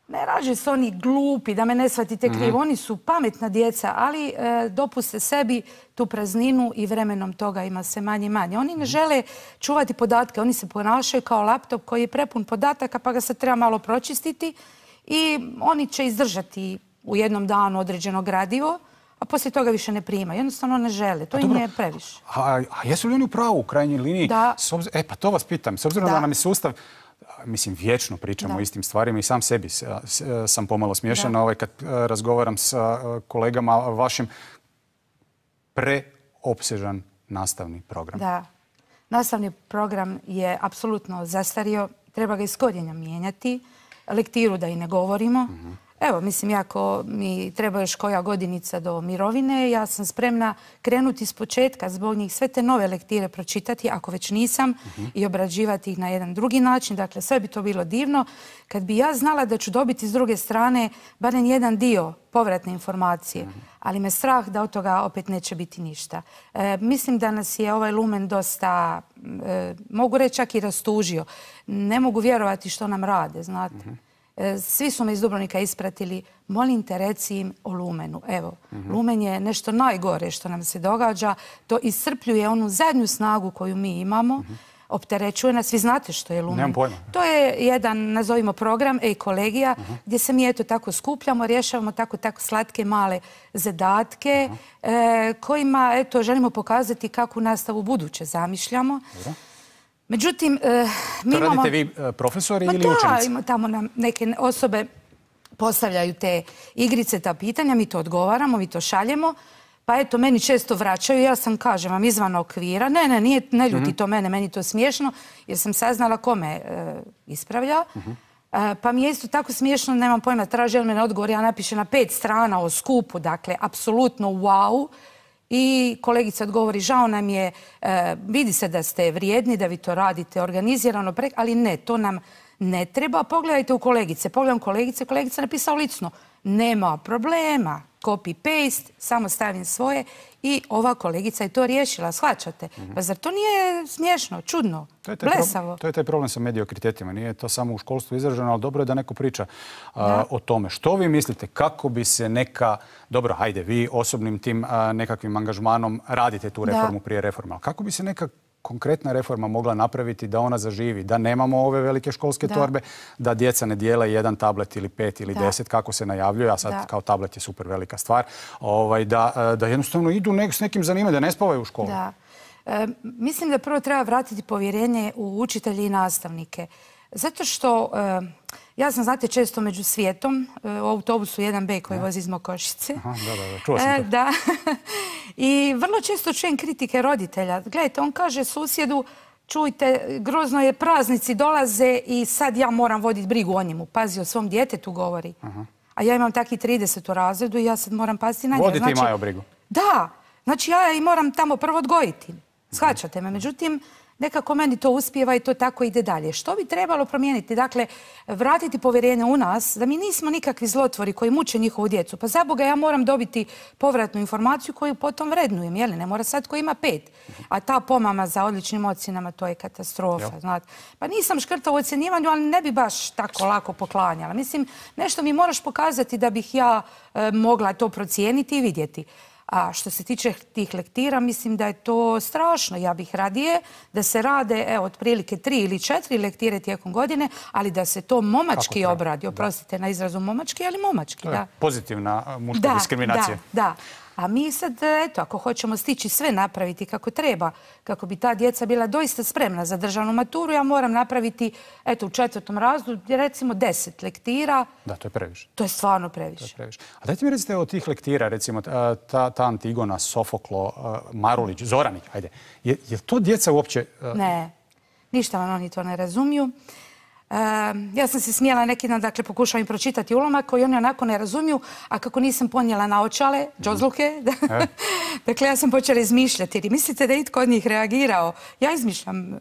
Speaker 11: Ne rađe se oni glupi, da me ne shvatite krivo. Mm-hmm. Oni su pametna djeca, ali e, dopuste sebi tu prazninu i vremenom toga ima se manje i manje. Oni ne žele čuvati podatke. Oni se ponašaju kao laptop koji je prepun podataka, pa ga se treba malo pročistiti i oni će izdržati u jednom danu određeno gradivo, a poslije toga više ne primaju. Jednostavno ne žele. To im je previše.
Speaker 1: A, a jesu li oni u pravu u krajnjoj liniji?
Speaker 11: Da.
Speaker 1: Obz... E, pa to vas pitam. S obzirom da, da nam je sustav... Mislim, vječno pričamo o istim stvarima i sam sebi sam pomalo smiješan ovaj, kad razgovaram sa kolegama vašim. Preopsežan nastavni program.
Speaker 11: Da. Nastavni program je apsolutno zastario. Treba ga iz korijena mijenjati. Lektiru da i ne govorimo. Mm-hmm. Evo, mislim, ako mi treba još koja godinica do mirovine, ja sam spremna krenuti iz početka zbog njih sve te nove lektire pročitati, ako već nisam, i obrađivati ih na jedan drugi način. Dakle, sve bi to bilo divno. Kad bi ja znala da ću dobiti s druge strane barem jedan dio povratne informacije, ali me strah da od toga opet neće biti ništa. E, mislim da nas je ovaj lumen dosta, e, mogu reći čak i rastužio. Ne mogu vjerovati što nam rade, znate. Svi su me iz Dubrovnika ispratili. Molim te, reci im o lumenu. Evo, lumen je nešto najgore što nam se događa. To iscrpljuje onu zadnju snagu koju mi imamo. Opterećuje nas. Vi znate što je lumen.
Speaker 1: Nemam pojma.
Speaker 11: To je jedan, nazovimo, program e-kolegija, gdje se mi eto tako skupljamo, rješavamo tako tako slatke male zadatke kojima eto želimo pokazati kakvu nastavu buduće zamišljamo. Međutim, mi imamo...
Speaker 1: To radite vi profesori ili učenici?
Speaker 11: Da, tamo nam neke osobe postavljaju te igrice, ta pitanja, mi to odgovaramo, mi to šaljemo. Pa eto, meni često vraćaju, ja sam, kažem vam, izvan okvira. Ne, ne, nije, ne ljuti to mene, meni to smiješno, jer sam saznala ko me ispravlja. Pa mi je isto tako smiješno, nemam pojma, traži od mene odgovor, ja napišem na pet strana o skupu, dakle, apsolutno wow. I kolegica odgovori, žao nam je, vidi se da ste vrijedni, da vi to radite organizirano, ali ne, to nam ne treba. Pogledajte u kolegice, pogledam kolegice, kolegica napisao licno, nema problema, copy-paste, samo stavim svoje i ova kolegica je to riješila, shvaćate? Pa zar to nije smiješno, čudno, blesavo?
Speaker 1: To je taj problem sa mediokritetima, nije to samo u školstvu izraženo, ali dobro je da neko priča o tome. Što vi mislite, kako bi se neka, dobro, hajde, vi osobnim tim nekakvim angažmanom radite tu reformu prije reforma, ali kako bi se neka konkretna reforma mogla napraviti da ona zaživi, da nemamo ove velike školske torbe, da djeca ne dijele jedan tablet ili pet ili deset, kako se najavljuje, a sad kao tablet je super velika stvar, da jednostavno idu s nekim zanimanjem, da ne spavaju u školu.
Speaker 11: Da. Mislim da prvo treba vratiti povjerenje u učitelje i nastavnike. Zato što ja sam, znate, često među svijetom, u autobusu jedan be koji vozi iz Mokošice.
Speaker 1: Aha, da, da, čuo sam to.
Speaker 11: Da. I vrlo često čujem kritike roditelja. Gledajte, on kaže susjedu, čujte, grozno je, praznici dolaze i sad ja moram voditi brigu o njemu. Pazi, o svom djetetu govori. A ja imam taki trideset u razredu i ja sad moram paziti na njega.
Speaker 1: Voditi i Majo brigu.
Speaker 11: Da, znači ja i moram tamo prvo odgojiti. Shvaćate me. Međutim, nekako meni to uspijeva i to tako ide dalje. Što bi trebalo promijeniti? Dakle, vratiti povjerenje u nas, da mi nismo nikakvi zlotvori koji muče njihovu djecu. Pa za Boga, ja moram dobiti povratnu informaciju koju potom vrednujem. Jel? Ne mora sad ko ima pet. A ta pomama za odličnim ocjenama, to je katastrofa. Znate. Pa nisam škrta u ocjenjivanju, ali ne bi baš tako lako poklanjala. Mislim, nešto mi moraš pokazati da bih ja e, mogla to procijeniti i vidjeti. A što se tiče tih lektira, mislim da je to strašno. Ja bih radije da se rade, evo, otprilike tri ili četiri lektire tijekom godine, ali da se to momački obradi. Oprostite na izrazu momački, ali momački, da.
Speaker 1: Pozitivna muška diskriminacija.
Speaker 11: Da, da. A mi sad, eto, ako hoćemo stići sve napraviti kako treba, kako bi ta djeca bila doista spremna za državnu maturu, ja moram napraviti, eto, u četvrtom razredu, recimo deset lektira.
Speaker 1: Da, to je previše.
Speaker 11: To je stvarno previše.
Speaker 1: To je previše. A dajte mi recite od tih lektira, recimo, ta, ta Antigona, Sofoklo, Marulić, Zoranić, ajde. Je, je to djeca uopće...
Speaker 11: Ne, ništa vam oni to ne razumiju. Uh, ja sam se smijela neki dan, dakle, pokušala im pročitati ulomak koji oni onako ne razumiju, a kako nisam ponijela naočale, džozluke, e. dakle, ja sam počela izmišljati. Jer mislite da je itko od njih reagirao? Ja izmišljam uh,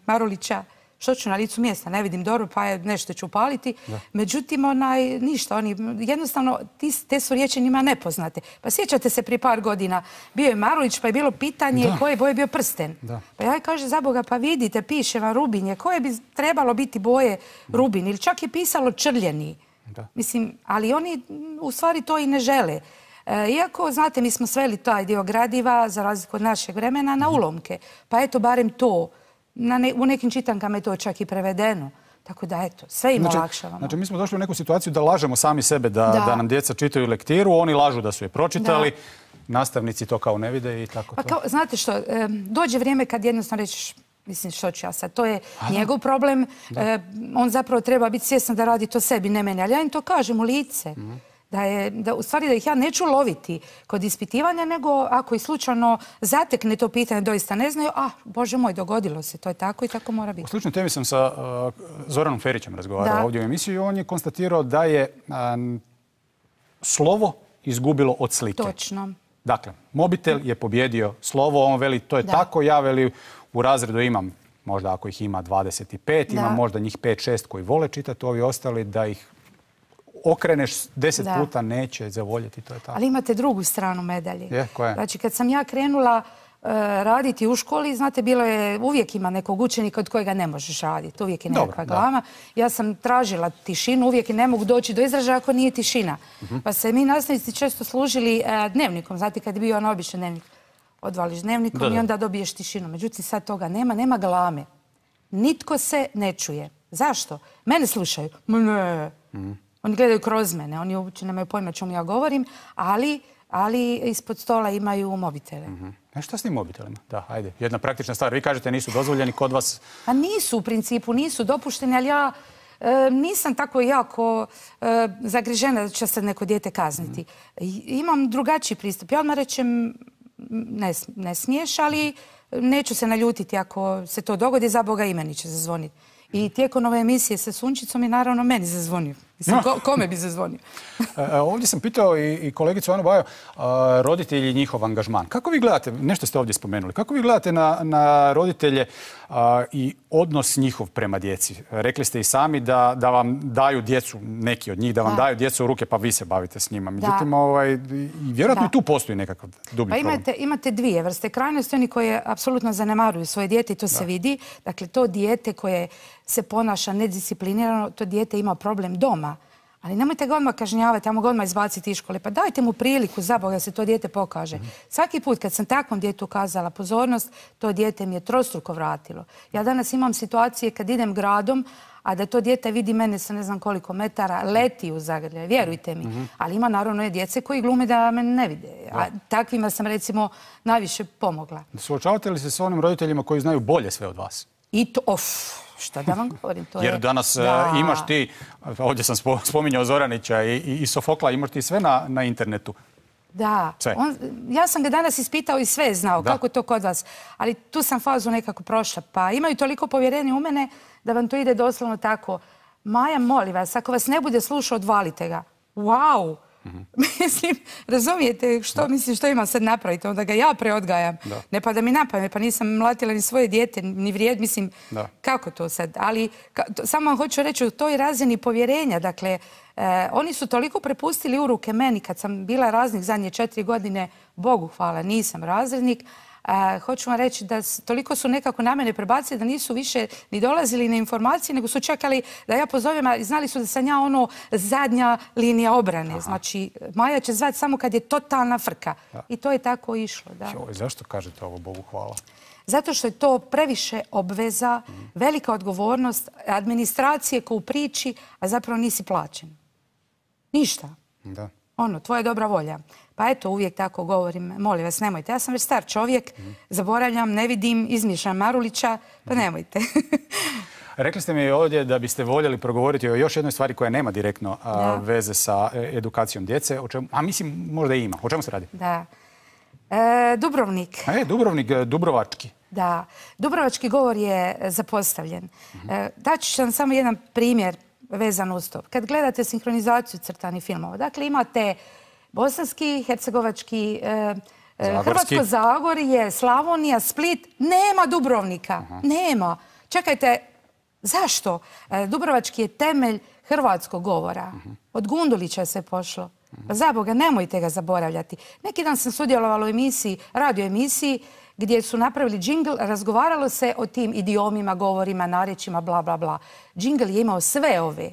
Speaker 11: Marulića, što ću na licu mjesta, ne vidim dobro, pa je nešto ću upaliti. Da. Međutim, onaj, ništa, oni, jednostavno, ti, te su riječi njima nepoznate. Pa sjećate se prije par godina, bio je Marulić, pa je bilo pitanje da. koje boje bio prsten. Da. Pa ja kaže, za Boga, pa vidite, piše vam Rubinje, koje bi trebalo biti boje Rubin, ili čak je pisalo Črljeni. Da. Mislim, ali oni u stvari to i ne žele. E, iako, znate, mi smo sveli taj dio gradiva, za razliku od našeg vremena, na ulomke. Pa eto, barem to. Na ne, u nekim čitankama je to čak i prevedeno. Tako da, eto, sve im
Speaker 1: znači,
Speaker 11: olakšavamo.
Speaker 1: Znači, mi smo došli u neku situaciju da lažemo sami sebe, da, da. da nam djeca čitaju lektiru, oni lažu da su je pročitali, da. nastavnici to kao ne vide i tako
Speaker 11: pa
Speaker 1: to.
Speaker 11: Kao, znate što, e, dođe vrijeme kad jednostavno rećeš, mislim, što ću ja sad, to je A, njegov problem, e, on zapravo treba biti svjestan da radi to sebi, ne meni, ali ja im to kažem u lice. Mm-hmm. Da je, da, u stvari da ih ja neću loviti kod ispitivanja, nego ako i slučajno zatekne to pitanje, doista ne znaju, a, Bože moj, dogodilo se, to je tako i tako mora biti.
Speaker 1: U sličnoj temi sam sa uh, Zoranom Ferićem razgovarao da. ovdje u emisiji i on je konstatirao da je uh, slovo izgubilo od slike.
Speaker 13: Točno.
Speaker 1: Dakle, mobitel je pobjedio slovo, on veli to je
Speaker 13: Da.
Speaker 1: tako, ja veli u razredu imam, možda ako ih ima dvadeset pet, imam
Speaker 13: Da.
Speaker 1: možda njih pet šest koji vole čitati, ovi ostali da ih okreneš deset
Speaker 13: Da.
Speaker 1: puta neće zavoljeti, to je tako.
Speaker 13: Ali imate drugu stranu medalje.
Speaker 1: Je, koja je?
Speaker 13: Znači, kad sam ja krenula e, raditi u školi, znate, bilo je, uvijek ima nekog učenika od kojega ne možeš raditi. Uvijek je
Speaker 1: Dobro,
Speaker 13: nekakva
Speaker 1: da.
Speaker 13: glama. Ja sam tražila tišinu, uvijek ne mogu doći do izražaja ako nije tišina.
Speaker 1: Mhm.
Speaker 13: Pa se mi nastavnici često služili e, dnevnikom. Znate, kad je bio onaj običan dnevnik, odvališ dnevnikom
Speaker 1: Da, da.
Speaker 13: i onda dobiješ tišinu. Međutim, sad toga nema, nema glame. Nitko se ne čuje. Zašto? Mene slušaju. Ma ne. Oni gledaju kroz mene, oni uopće nemaju pojma o čemu ja govorim, ali, ali ispod stola imaju mobitele.
Speaker 1: E šta s tim mobitelima? Da, ajde, jedna praktična stvar. Vi kažete nisu dozvoljeni kod vas.
Speaker 13: A nisu u principu, nisu dopušteni, ali ja e, nisam tako jako e, zagrižena da će se neko dijete kazniti. I- Imam drugačiji pristup. Ja odmah rečem, ne, s- ne smiješ, ali neću se naljutiti ako se to dogodi, za Boga i meni će zazvoniti. I tijekom ove emisije sa Sunčicom je naravno meni zazvonio. Mislim, ko- kome bi zazvonio?
Speaker 1: E, e, Ovdje sam pitao i, i kolegicu Anu Bajo, a, roditelji i njihov angažman. Kako vi gledate, nešto ste ovdje spomenuli, kako vi gledate na, na roditelje a, i odnos njihov prema djeci? Rekli ste i sami da, da vam daju djecu, neki od njih, da vam
Speaker 13: Da.
Speaker 1: daju djecu u ruke pa vi se bavite s njima.
Speaker 13: Da.
Speaker 1: Međutim, ovaj, i vjerojatno
Speaker 13: Da.
Speaker 1: i tu postoji nekakav dublji
Speaker 13: Pa
Speaker 1: problem.
Speaker 13: imate, imate dvije vrste krajnosti, oni koji apsolutno zanemaruju svoje dijete i to se vidi. Dakle, to dijete koje se ponaša nedisciplinirano, to dijete ima problem doma. Ali nemojte ga odmah kažnjavati, ajmo ga odmah izbaciti iz škole. Pa dajte mu priliku, za Boga, da se to dijete pokaže. Svaki put kad sam takvom djetetu ukazala pozornost, to dijete mi je trostruko vratilo. Ja danas imam situacije kad idem gradom, a da to dijete vidi mene sa ne znam koliko metara, leti u zagrljaj, vjerujte mi. Ali ima naravno i djece koji glume da me ne vide. A takvima sam recimo najviše pomogla.
Speaker 1: Suočavate li se s onim roditeljima koji znaju bolje sve od vas?
Speaker 13: I to, of, šta da vam govorim, to je...
Speaker 1: Jer danas e,
Speaker 13: Da.
Speaker 1: imaš ti, ovdje sam spo- spominjao Zoranića i, i, i Sofokla, imaš ti sve na, na internetu.
Speaker 13: Da,
Speaker 1: Sve.
Speaker 13: on, ja sam ga danas ispitao i sve je znao,
Speaker 1: Da.
Speaker 13: kako je to kod vas. Ali tu sam fazu nekako prošla. Pa imaju toliko povjerenja u mene da vam to ide doslovno tako. Maja, molim vas, ako vas ne bude slušao, odvalite ga. Wow! Mislim, razumijete što, mislim, što imam sad napraviti? Onda ga ja preodgajam.
Speaker 1: Da.
Speaker 13: Ne pada mi na pamet, pa nisam mlatila ni svoje dijete, ni vrijed, mislim,
Speaker 1: Da.
Speaker 13: kako to sad? Ali ka- to- samo vam hoću reći u toj razini povjerenja, dakle, e, oni su toliko prepustili u ruke meni kad sam bila razrednik zadnje četiri godine, Bogu hvala, nisam razrednik. E, hoću vam reći da s- toliko su nekako na mene prebacili da nisu više ni dolazili na informacije, nego su čekali da ja pozovem, a znali su da sam ja ono zadnja linija obrane. Znači, Maja će zvati samo kad je totalna frka. I to je tako išlo, da.
Speaker 1: Joj, zašto kažete ovo, Bogu hvala?
Speaker 13: Zato što je to previše obveza, velika odgovornost, administracije ko u priči, a zapravo nisi plaćen. Ništa.
Speaker 1: Da.
Speaker 13: Ono, tvoja dobra volja. Pa eto, uvijek tako govorim, molim vas, nemojte. Ja sam već star čovjek, zaboravljam, ne vidim, izmišljam Marulića, pa nemojte.
Speaker 1: Rekli ste mi ovdje da biste voljeli progovoriti o još jednoj stvari koja nema direktno a,
Speaker 13: Da.
Speaker 1: veze sa e, edukacijom djece, o čemu, a mislim možda i ima. O čemu se radi?
Speaker 13: Da. E, Dubrovnik.
Speaker 1: E, Dubrovnik, e, Dubrovački.
Speaker 13: Da, Dubrovački govor je zapostavljen. E, Daću ću vam samo jedan primjer vezan uz to. Kad gledate sinhronizaciju crtanih filmova, dakle imate bosanski, hercegovački, e, e,
Speaker 1: Zagorski.
Speaker 13: Hrvatsko Zagorje, Slavonija, Split, nema Dubrovnika. Nema. Čekajte, zašto? E, Dubrovački je temelj hrvatskog govora. Od Gundulića se pošlo. Pa za Boga, nemojte ga zaboravljati. Neki dan sam sudjelovala u emisiji, radio emisiji, gdje su napravili džingl, razgovaralo se o tim idiomima, govorima, narječima, bla, bla, bla. Džingl je imao sve ove,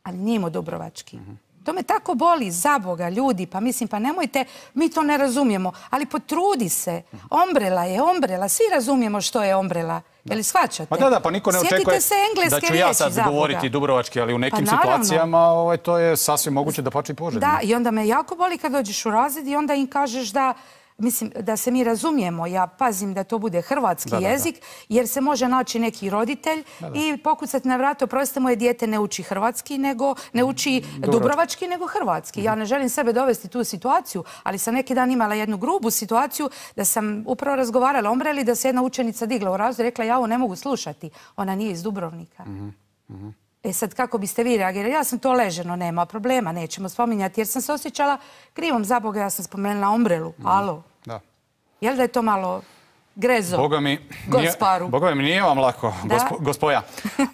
Speaker 13: ali nije imao dubrovački. To me tako boli, za Boga, ljudi, pa mislim, pa nemojte, mi to ne razumijemo, ali potrudi se. Ombrela je ombrela, svi razumijemo što je ombrela. Je li shvaćate?
Speaker 1: Pa da, da, pa niko ne
Speaker 13: Sjetite
Speaker 1: očekuje
Speaker 13: se engleske
Speaker 1: da ću ja
Speaker 13: riječi,
Speaker 1: sad
Speaker 13: za Boga.
Speaker 1: govoriti dubrovački, ali u nekim
Speaker 13: Pa naravno.
Speaker 1: situacijama ovaj, to je sasvim moguće da pače i poželjno.
Speaker 13: Da, i onda me jako boli kad dođeš u razred i onda im kažeš da, mislim, da se mi razumijemo. Ja pazim da to bude hrvatski
Speaker 1: Da, da, da.
Speaker 13: jezik, jer se može naći neki roditelj i pokucati na vrata, oprostite, moje dijete ne uči hrvatski, nego ne uči dubrovački, nego hrvatski. Ja ne želim sebe dovesti u tu situaciju, ali sam neki dan imala jednu grubu situaciju da sam upravo razgovarala o ombreli, da se jedna učenica digla u razred i rekla, ja ovo ne mogu slušati. Ona nije iz Dubrovnika. E sad, kako biste vi reagirali? Ja sam to leženo, nema problema, nećemo spominjati, jer sam se osjećala krivom za Boga, ja sam spomenula Umbrelu, alo.
Speaker 1: Da.
Speaker 13: Jel da je to malo grezo?
Speaker 1: Boga mi,
Speaker 13: Gosparu.
Speaker 1: Boga mi nije vam lako, gospo, gospoja.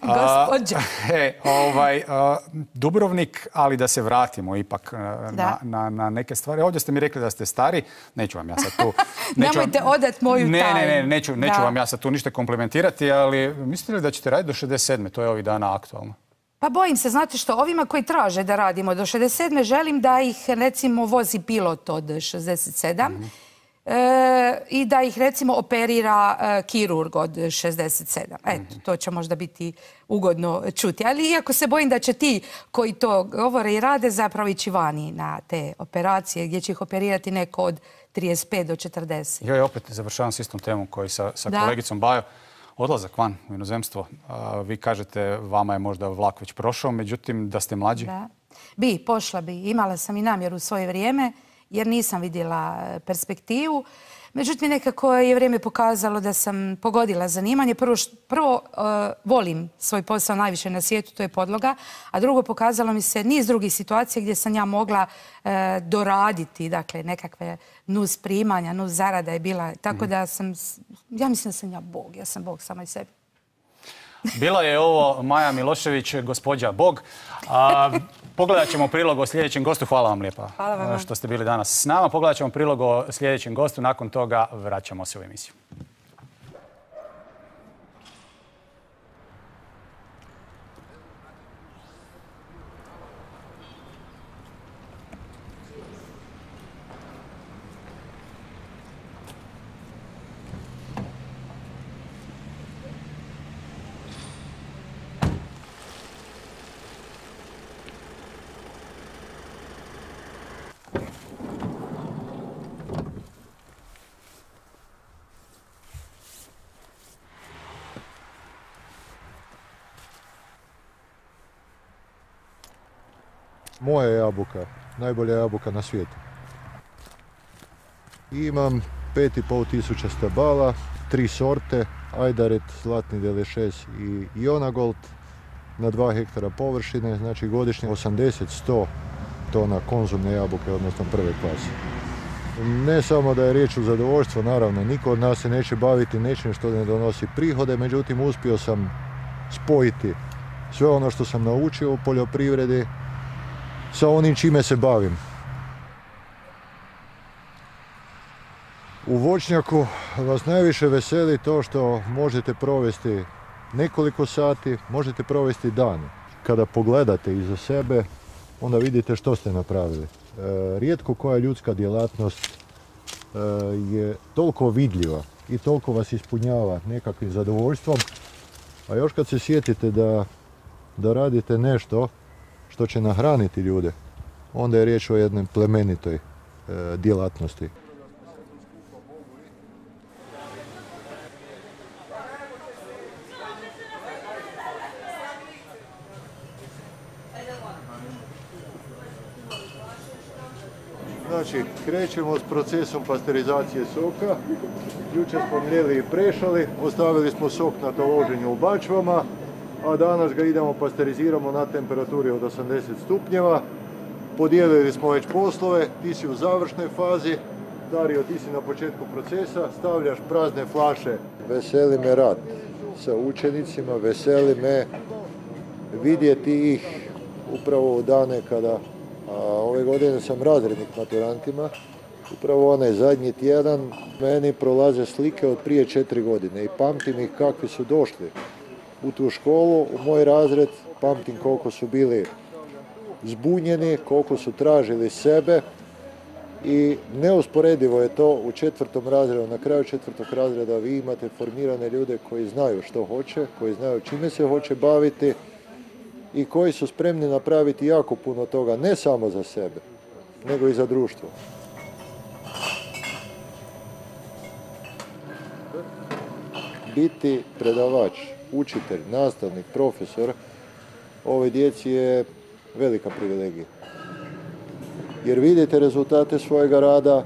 Speaker 13: Gospođa.
Speaker 1: E, ovaj, a, Dubrovnik, ali da se vratimo ipak na, na, na neke stvari. Ovdje ste mi rekli da ste stari, neću vam ja sad tu...
Speaker 13: Nemojte
Speaker 1: vam,
Speaker 13: odat moju
Speaker 1: ne,
Speaker 13: tajnu.
Speaker 1: Ne, ne, neću, neću vam ja sad tu ništa komplementirati, ali mislite li da ćete raditi do šezdeset sedme? To je ovih dana aktualno.
Speaker 13: Pa bojim se, znate što, ovima koji traže da radimo do šezdeset sedme želim da ih, recimo, vozi pilot od šezdeset sedam. Mm-hmm. E, i da ih recimo operira e, kirurg od šezdeset sedam. Eto, to će možda biti ugodno čuti. Ali iako se bojim da će ti koji to govore i rade zapravo ići vani na te operacije gdje će ih operirati neko od trideset pet do četrdeset.
Speaker 1: Ja opet završavam s istom temom koji sa, sa kolegicom Bajo. Odlazak van u inozemstvo. A, vi kažete vama je možda vlak već prošao, međutim da ste mlađi.
Speaker 13: Da. Bi, pošla bi. Imala sam i namjeru u svoje vrijeme, jer nisam vidjela perspektivu. Međutim, nekako je vrijeme pokazalo da sam pogodila zanimanje. Prvo, prvo uh, volim svoj posao najviše na svijetu, to je podloga, a drugo pokazalo mi se niz drugih situacija gdje sam ja mogla uh, doraditi, dakle, nekakve nus primanja, nus zarada je bila. Tako da sam, ja mislim da sam ja Bog, ja sam Bog sama i sebi.
Speaker 1: Bila je ovo Maja Milošević, gospođa Bog. A, pogledat ćemo prilog o sljedećem gostu. Hvala vam lijepa što ste bili danas s nama. Pogledat ćemo prilog o sljedećem gostu. Nakon toga vraćamo se u emisiju.
Speaker 14: Moja jabuka, najbolja jabuka na svijetu. Imam pet i pol tisuća stabala, tri sorte, Ajdaret, Zlatni Delešes i Ionagold na dva hektara površine, znači godišnje osamdeset do sto tona konzumne jabuke, odnosno prve klase. Ne samo da je riječ o zadovoljstvu, naravno, niko od nas se neće baviti nečim što ne donosi prihode, međutim uspio sam spojiti sve ono što sam naučio u poljoprivredi sa onim čime se bavim. U voćnjaku vas najviše veseli to što možete provesti nekoliko sati, možete provesti dan. Kada pogledate iza sebe, onda vidite što ste napravili. E, rijetko koja ljudska djelatnost e, je toliko vidljiva i toliko vas ispunjava nekakvim zadovoljstvom, a još kad se sjetite da, da radite nešto što će nahraniti ljude, onda je riječ o jednoj plemenitoj e, djelatnosti. Znači, krećemo s procesom pasterizacije soka. Jučer smo mljeli i prešali, ostavili smo sok na taloženju u bačvama, a danas ga idemo pasteriziramo na temperaturi od osamdeset stupnjeva. Podijelili smo već poslove, ti si u završnoj fazi, Dario, ti si na početku procesa, stavljaš prazne flaše. Veseli me rad sa učenicima, veseli me vidjeti ih upravo u dane kada, a ove godine sam razrednik maturantima, upravo onaj zadnji tjedan meni prolaze slike od prije četiri godine i pamtim ih kakvi su došli u tu školu, u moj razred, pamtim koliko su bili zbunjeni, koliko su tražili sebe i neusporedivo je to u četvrtom razredu. Na kraju četvrtog razreda vi imate formirane ljude koji znaju što hoće, koji znaju čime se hoće baviti i koji su spremni napraviti jako puno toga, ne samo za sebe, nego i za društvo. Biti predavač, učitelj, nastavnik, profesor, ovoj djeci je velika privilegija. Jer vidite rezultate svojega rada,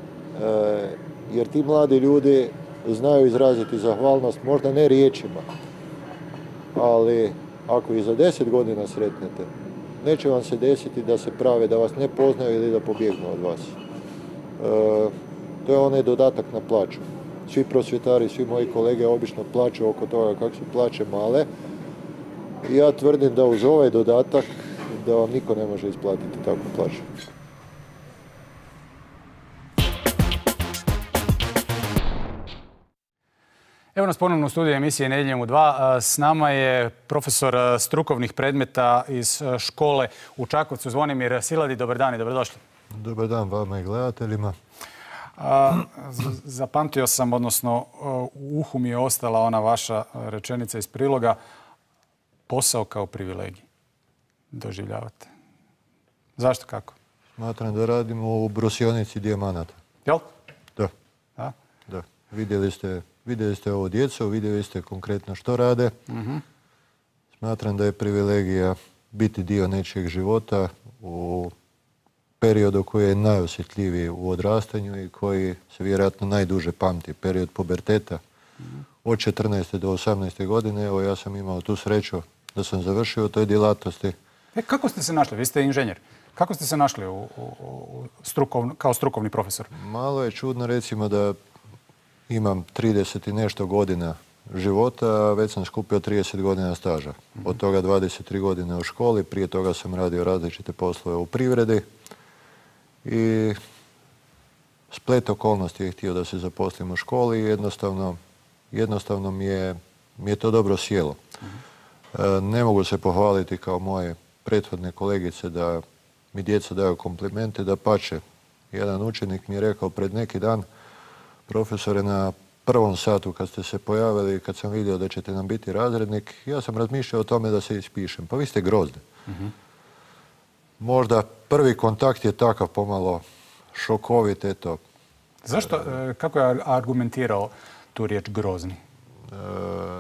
Speaker 14: jer ti mladi ljudi znaju izraziti zahvalnost, možda ne riječima, ali ako ih za deset godina sretnete, neće vam se desiti da se prave, da vas ne poznaju ili da pobjegnu od vas. E, to je onaj dodatak na plaću. Svi prosvjetari, svi moji kolege obično plaću oko toga kako su plaće male. I ja tvrdim da uz ovaj dodatak da vam niko ne može isplatiti takvu plaću.
Speaker 1: Evo nas ponovno u studiju emisije Nedjeljom u dva. S nama je profesor strukovnih predmeta iz škole u Čakovcu, Zvonimir Siladi. Dobar dan i dobrodošli.
Speaker 14: Dobar dan vama i gledateljima.
Speaker 1: A, zapamtio sam, odnosno u uhu mi je ostala ona vaša rečenica iz priloga. Posao kao privilegij doživljavate. Zašto, kako?
Speaker 14: Smatram da radimo u brosionici dijamanata.
Speaker 1: Jel?
Speaker 14: Da.
Speaker 1: Da?
Speaker 14: Da. Vidjeli ste, vidjeli ste ovo djecu, vidjeli ste konkretno što rade.
Speaker 1: Uh-huh.
Speaker 14: Smatram da je privilegija biti dio nečijeg života u periodu koji je najosjetljiviji u odrastanju i koji se vjerojatno najduže pamti, period puberteta. Uh-huh. Od četrnaeste do osamnaeste godine, evo ja sam imao tu sreću da sam završio u toj djelatnosti.
Speaker 1: E, kako ste se našli? Vi ste inženjer. Kako ste se našli u, u, u strukovn, kao strukovni profesor?
Speaker 14: Malo je čudno, recimo, da imam trideset i nešto godina života, a već sam skupio trideset godina staža. Od toga dvadeset tri godine u školi, prije toga sam radio različite poslove u privredi i splet okolnosti je htio da se zaposlim u školi i jednostavno, jednostavno mi je, mi je to dobro sjelo. E, ne mogu se pohvaliti kao moje prethodne kolegice da mi djeca daju komplimente, da pače. Jedan učenik mi je rekao pred neki dan, profesore, na prvom satu kad ste se pojavili i kad sam vidio da ćete nam biti razrednik, ja sam razmišljao o tome da se ispišem. Pa vi ste grozni. Uh-huh. Možda prvi kontakt je takav pomalo šokovit, eto.
Speaker 1: Zašto, kako je argumentirao tu riječ grozni? E,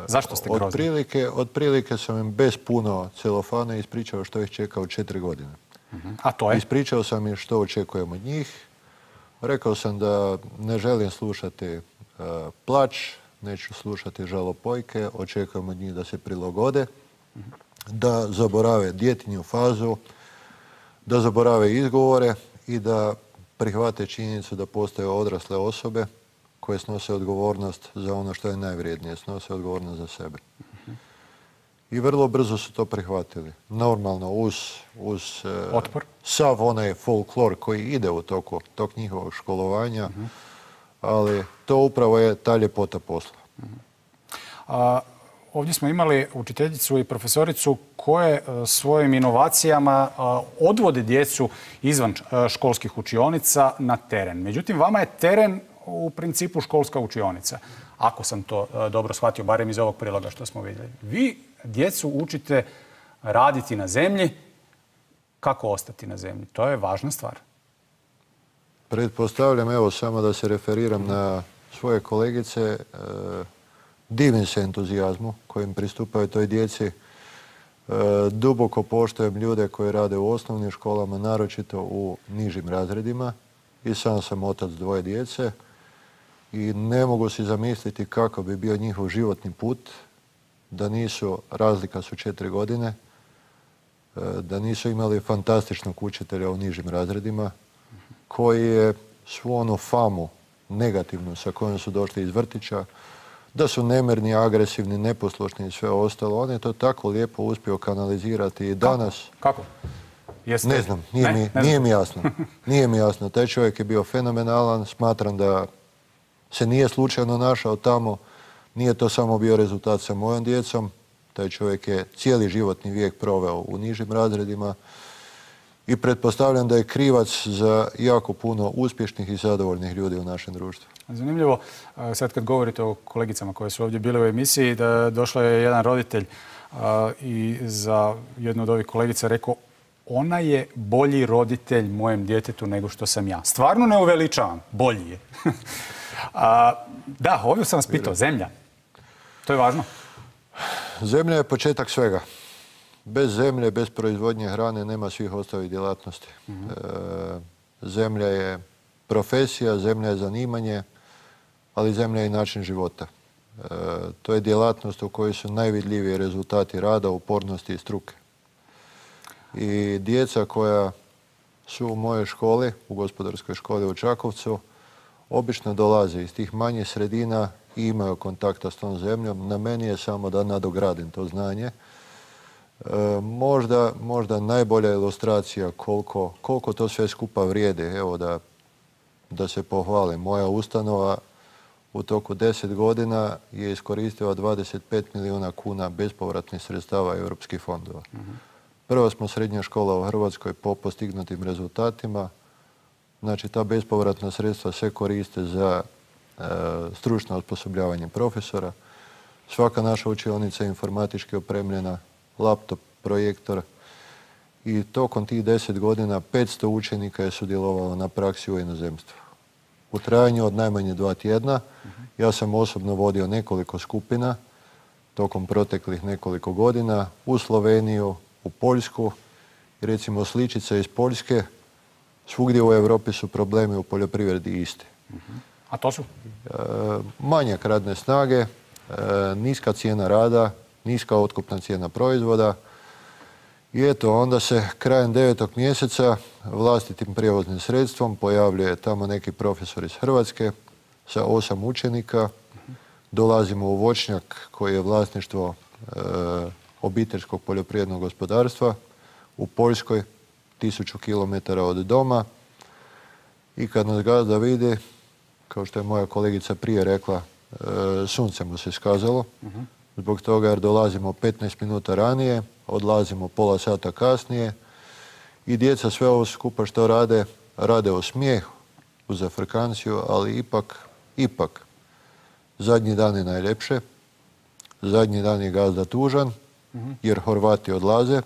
Speaker 1: Zašto ste grozni?
Speaker 14: Otprilike, otprilike sam im bez puno celofana ispričao što ih čeka u četiri godine.
Speaker 1: Uh-huh. A to je?
Speaker 14: Ispričao sam im što očekujem od njih. Rekao sam da ne želim slušati uh, plač, neću slušati žalopojke, očekujem od njih da se prilagode, uh-huh. da zaborave djetinju fazu, da zaborave izgovore i da prihvate činjenicu da postoje odrasle osobe koje snose odgovornost za ono što je najvrijednije, snose odgovornost za sebe. Uh-huh. I vrlo brzo su to prihvatili. Normalno uz, uz
Speaker 1: otpor,
Speaker 14: sav onaj folklor koji ide u toku tog njihovog školovanja, uh-huh. ali to upravo je ta ljepota posla.
Speaker 1: Uh-huh. A, ovdje smo imali učiteljicu i profesoricu koje a, svojim inovacijama a, odvode djecu izvan a, školskih učionica na teren. Međutim, vama je teren u principu školska učionica. Ako sam to a, dobro shvatio, barem iz ovog priloga što smo vidjeli. Vi djecu učite raditi na zemlji. Kako ostati na zemlji? To je važna stvar.
Speaker 14: Pretpostavljam, evo, samo da se referiram na svoje kolegice, e, divim se entuzijazmu kojim pristupaju toj djeci. E, duboko poštujem ljude koji rade u osnovnim školama, naročito u nižim razredima. I sam sam otac dvoje djece i ne mogu si zamisliti kako bi bio njihov životni put da nisu, razlika su četiri godine, da nisu imali fantastičnog učitelja u nižim razredima koji je svu onu famu negativnu sa kojom su došli iz vrtića, da su nemirni, agresivni, neposlušni i sve ostalo. On je to tako lijepo uspio kanalizirati i danas...
Speaker 1: Kako? Jeste...
Speaker 14: Ne znam, nije, ne? Mi, ne nije mi jasno. Nije mi jasno. Taj čovjek je bio fenomenalan. Smatram da se nije slučajno našao tamo. Nije to samo bio rezultat sa mojom djecom. Taj čovjek je cijeli životni vijek proveo u nižim razredima i pretpostavljam da je krivac za jako puno uspješnih i zadovoljnih ljudi u našem društvu.
Speaker 1: Zanimljivo, sad kad govorite o kolegicama koje su ovdje bile u emisiji, da došao je jedan roditelj i za jednu od ovih kolegica rekao, ona je bolji roditelj mojem djetetu nego što sam ja. Stvarno ne uveličavam, bolji je. A, da, ovdje sam vas pitao, zemlja. To je važno.
Speaker 14: Zemlja je početak svega. Bez zemlje, bez proizvodnje hrane nema svih ostalih djelatnosti. Mm-hmm. e, zemlja je profesija, zemlja je zanimanje, ali zemlja je i način života. To je djelatnost u kojoj su najvidljiviji rezultati rada, upornosti i struke. I djeca koja su u mojoj školi, u gospodarskoj školi u Čakovcu, obično dolaze iz tih manjih sredina i imaju kontakta s tom zemljom. Na meni je samo da nadogradim to znanje. Možda, možda najbolja ilustracija koliko, koliko to sve skupa vrijedi. Evo da, da se pohvalim. Moja ustanova u toku deset godina je iskoristila dvadeset pet milijuna kuna bespovratnih sredstava europskih fondova. Mm-hmm. Prva smo srednja škola u Hrvatskoj po postignutim rezultatima. Znači, ta bespovratna sredstva se koriste za e, stručno osposobljavanje profesora. Svaka naša učionica je informatički opremljena, laptop, projektor. I tokom tih deset godina petsto učenika je sudjelovalo na praksi u inozemstvu. U trajanju od najmanje dva tjedna. Ja sam osobno vodio nekoliko skupina tokom proteklih nekoliko godina u Sloveniju, u Poljsku. I recimo sličice iz Poljske, svugdje u Europi su problemi u poljoprivredi isti.
Speaker 1: A to su?
Speaker 14: E, manjak radne snage, e, niska cijena rada, niska otkupna cijena proizvoda. I eto, onda se krajem devetog mjeseca vlastitim prijevoznim sredstvom pojavljuje tamo neki profesor iz Hrvatske sa osam učenika. Dolazimo u voćnjak koji je vlasništvo e, obiteljskog poljoprivrednog gospodarstva u Poljskoj, tisuću kilometara od doma. I kad nas gazda vidi, kao što je moja kolegica prije rekla, e, sunce mu se skazalo. Uh-huh. Zbog toga jer dolazimo petnaest minuta ranije, odlazimo pola sata kasnije i djeca sve ovo skupa što rade, rade o smijehu, uz afrikanciju, ali ipak, ipak, zadnji dan je najljepše, zadnji dan je gazda tužan, uh-huh. jer Horvati odlaze,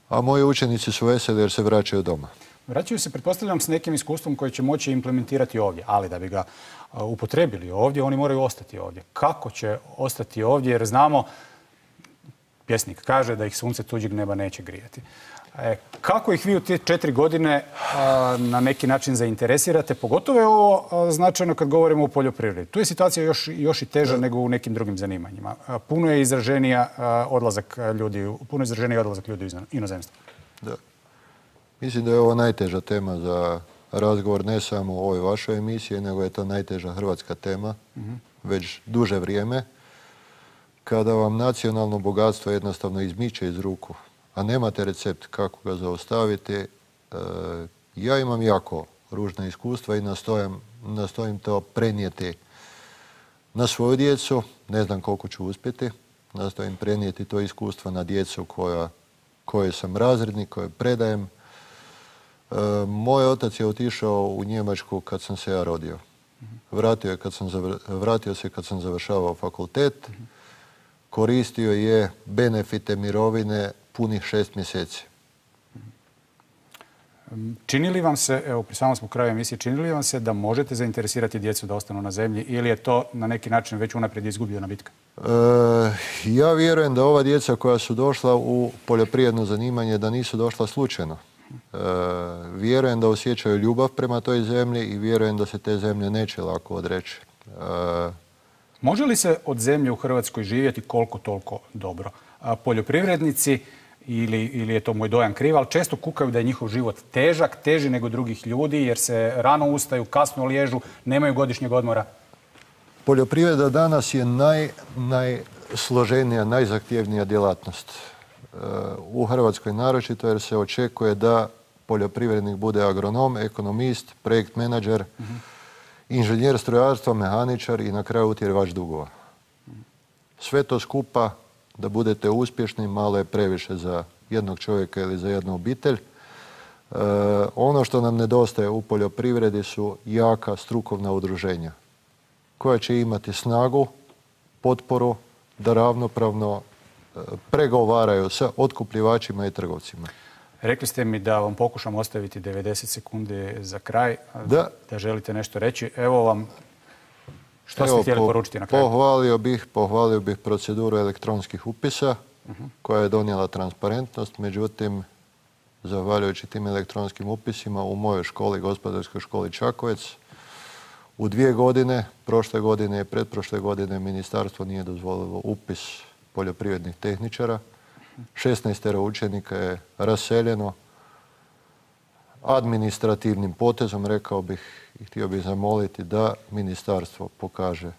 Speaker 14: a moji učenici su veseli jer se vraćaju doma.
Speaker 1: Vraćaju se, pretpostavljam, s nekim iskustvom koji će moći implementirati ovdje, ali da bi ga upotrebili ovdje, oni moraju ostati ovdje. Kako će ostati ovdje? Jer znamo, pjesnik kaže da ih sunce tuđeg neba neće grijati. E, kako ih vi u te četiri godine a, na neki način zainteresirate? Pogotovo je ovo a, značajno kad govorimo o poljoprivredi. Tu je situacija još, još i teža da. nego u nekim drugim zanimanjima. A, puno je izraženija a, odlazak ljudi, puno je izraženiji odlazak ljudi iz inozemstva.
Speaker 14: Da. Mislim da je ovo najteža tema za razgovor ne samo u ovoj vašoj emisiji, nego je to najteža hrvatska tema mm-hmm. već duže vrijeme. Kada vam nacionalno bogatstvo jednostavno izmiče iz ruku, a nemate recept kako ga zaustaviti, e, ja imam jako ružna iskustva i nastojam, nastojim to prenijeti na svoju djecu. Ne znam koliko ću uspjeti. Nastojim prenijeti to iskustvo na djecu koja, koje sam razrednik, koje predajem. E, moj otac je otišao u Njemačku kad sam se ja rodio. Vratio, je kad sam zavr... Vratio se kad sam završavao fakultet. Koristio je benefite mirovine punih šest mjeseci.
Speaker 1: Čini li vam se, evo pri samom smo kraju emisije, čini li vam se da možete zainteresirati djecu da ostanu na zemlji ili je to na neki način već unaprijed izgubljena bitka?
Speaker 14: E, ja vjerujem da ova djeca koja su došla u poljoprivredno zanimanje da nisu došla slučajno. E, vjerujem da osjećaju ljubav prema toj zemlji i vjerujem da se te zemlje neće lako odreći. E,
Speaker 1: Može li se od zemlje u Hrvatskoj živjeti koliko toliko dobro? A poljoprivrednici, ili, ili je to moj dojam kriv, ali često kukaju da je njihov život težak, teži nego drugih ljudi jer se rano ustaju, kasno liježu, nemaju godišnjeg odmora.
Speaker 14: Poljoprivreda danas je naj, najsloženija, najzahtjevnija djelatnost. E, u Hrvatskoj naročito jer se očekuje da poljoprivrednik bude agronom, ekonomist, projekt menadžer, uh-huh. inženjer strojarstva, mehaničar i na kraju utjerivač dugova. Sve to skupa, da budete uspješni, malo je previše za jednog čovjeka ili za jednu obitelj. E, ono što nam nedostaje u poljoprivredi su jaka strukovna udruženja koja će imati snagu, potporu da ravnopravno e, pregovaraju sa otkupljivačima i trgovcima.
Speaker 1: Rekli ste mi da vam pokušam ostaviti devedeset sekundi za kraj,
Speaker 14: da,
Speaker 1: da želite nešto reći. Evo vam, što
Speaker 14: Evo,
Speaker 1: ste htjeli
Speaker 14: po,
Speaker 1: poručiti na kraju?
Speaker 14: Pohvalio bih, pohvalio bih proceduru elektronskih upisa uh-huh. koja je donijela transparentnost. Međutim, zahvaljujući tim elektronskim upisima u mojoj školi, gospodarskoj školi Čakovec, U dvije godine, prošle godine i pretprošle godine, ministarstvo nije dozvolilo upis poljoprivrednih tehničara. šesnaestero učenika je raseljeno. Administrativnim potezom, rekao bih i htio bih zamoliti da ministarstvo pokaže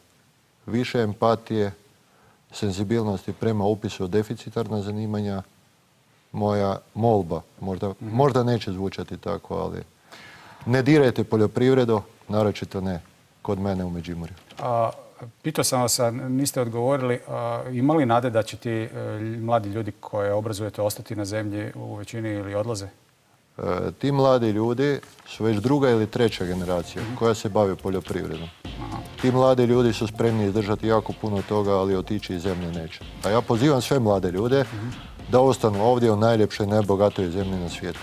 Speaker 14: više empatije, senzibilnosti prema upisu deficitarna zanimanja. Moja molba, možda, možda neće zvučati tako, ali ne dirajte poljoprivredu, naročito ne kod mene u Međimurju.
Speaker 1: A, pitao sam vas, a niste odgovorili, a, ima li nade da će ti e, mladi ljudi koje obrazujete ostati na zemlji u većini ili odlaze?
Speaker 14: E, ti mladi ljudi su već druga ili treća generacija koja se bavi poljoprivredom. Aha. Ti mladi ljudi su spremni izdržati jako puno toga, ali otići iz zemlje neće. A ja pozivam sve mlade ljude uh-huh. da ostanu ovdje u najljepšoj, najbogatoj zemlji na svijetu.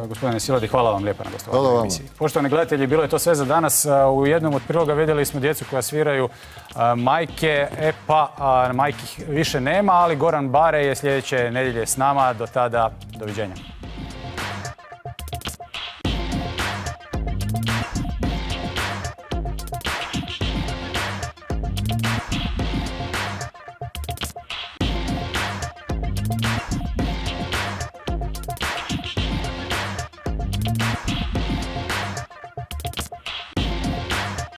Speaker 1: Gospodine Siladi, hvala vam lijepa na gostovanju u emisiji. Poštovani gledatelji, bilo je to sve za danas. U jednom od priloga vidjeli smo djecu koja sviraju majke, e pa majki više nema, ali Goran Bare je sljedeće nedjelje s nama. Do tada, doviđenja.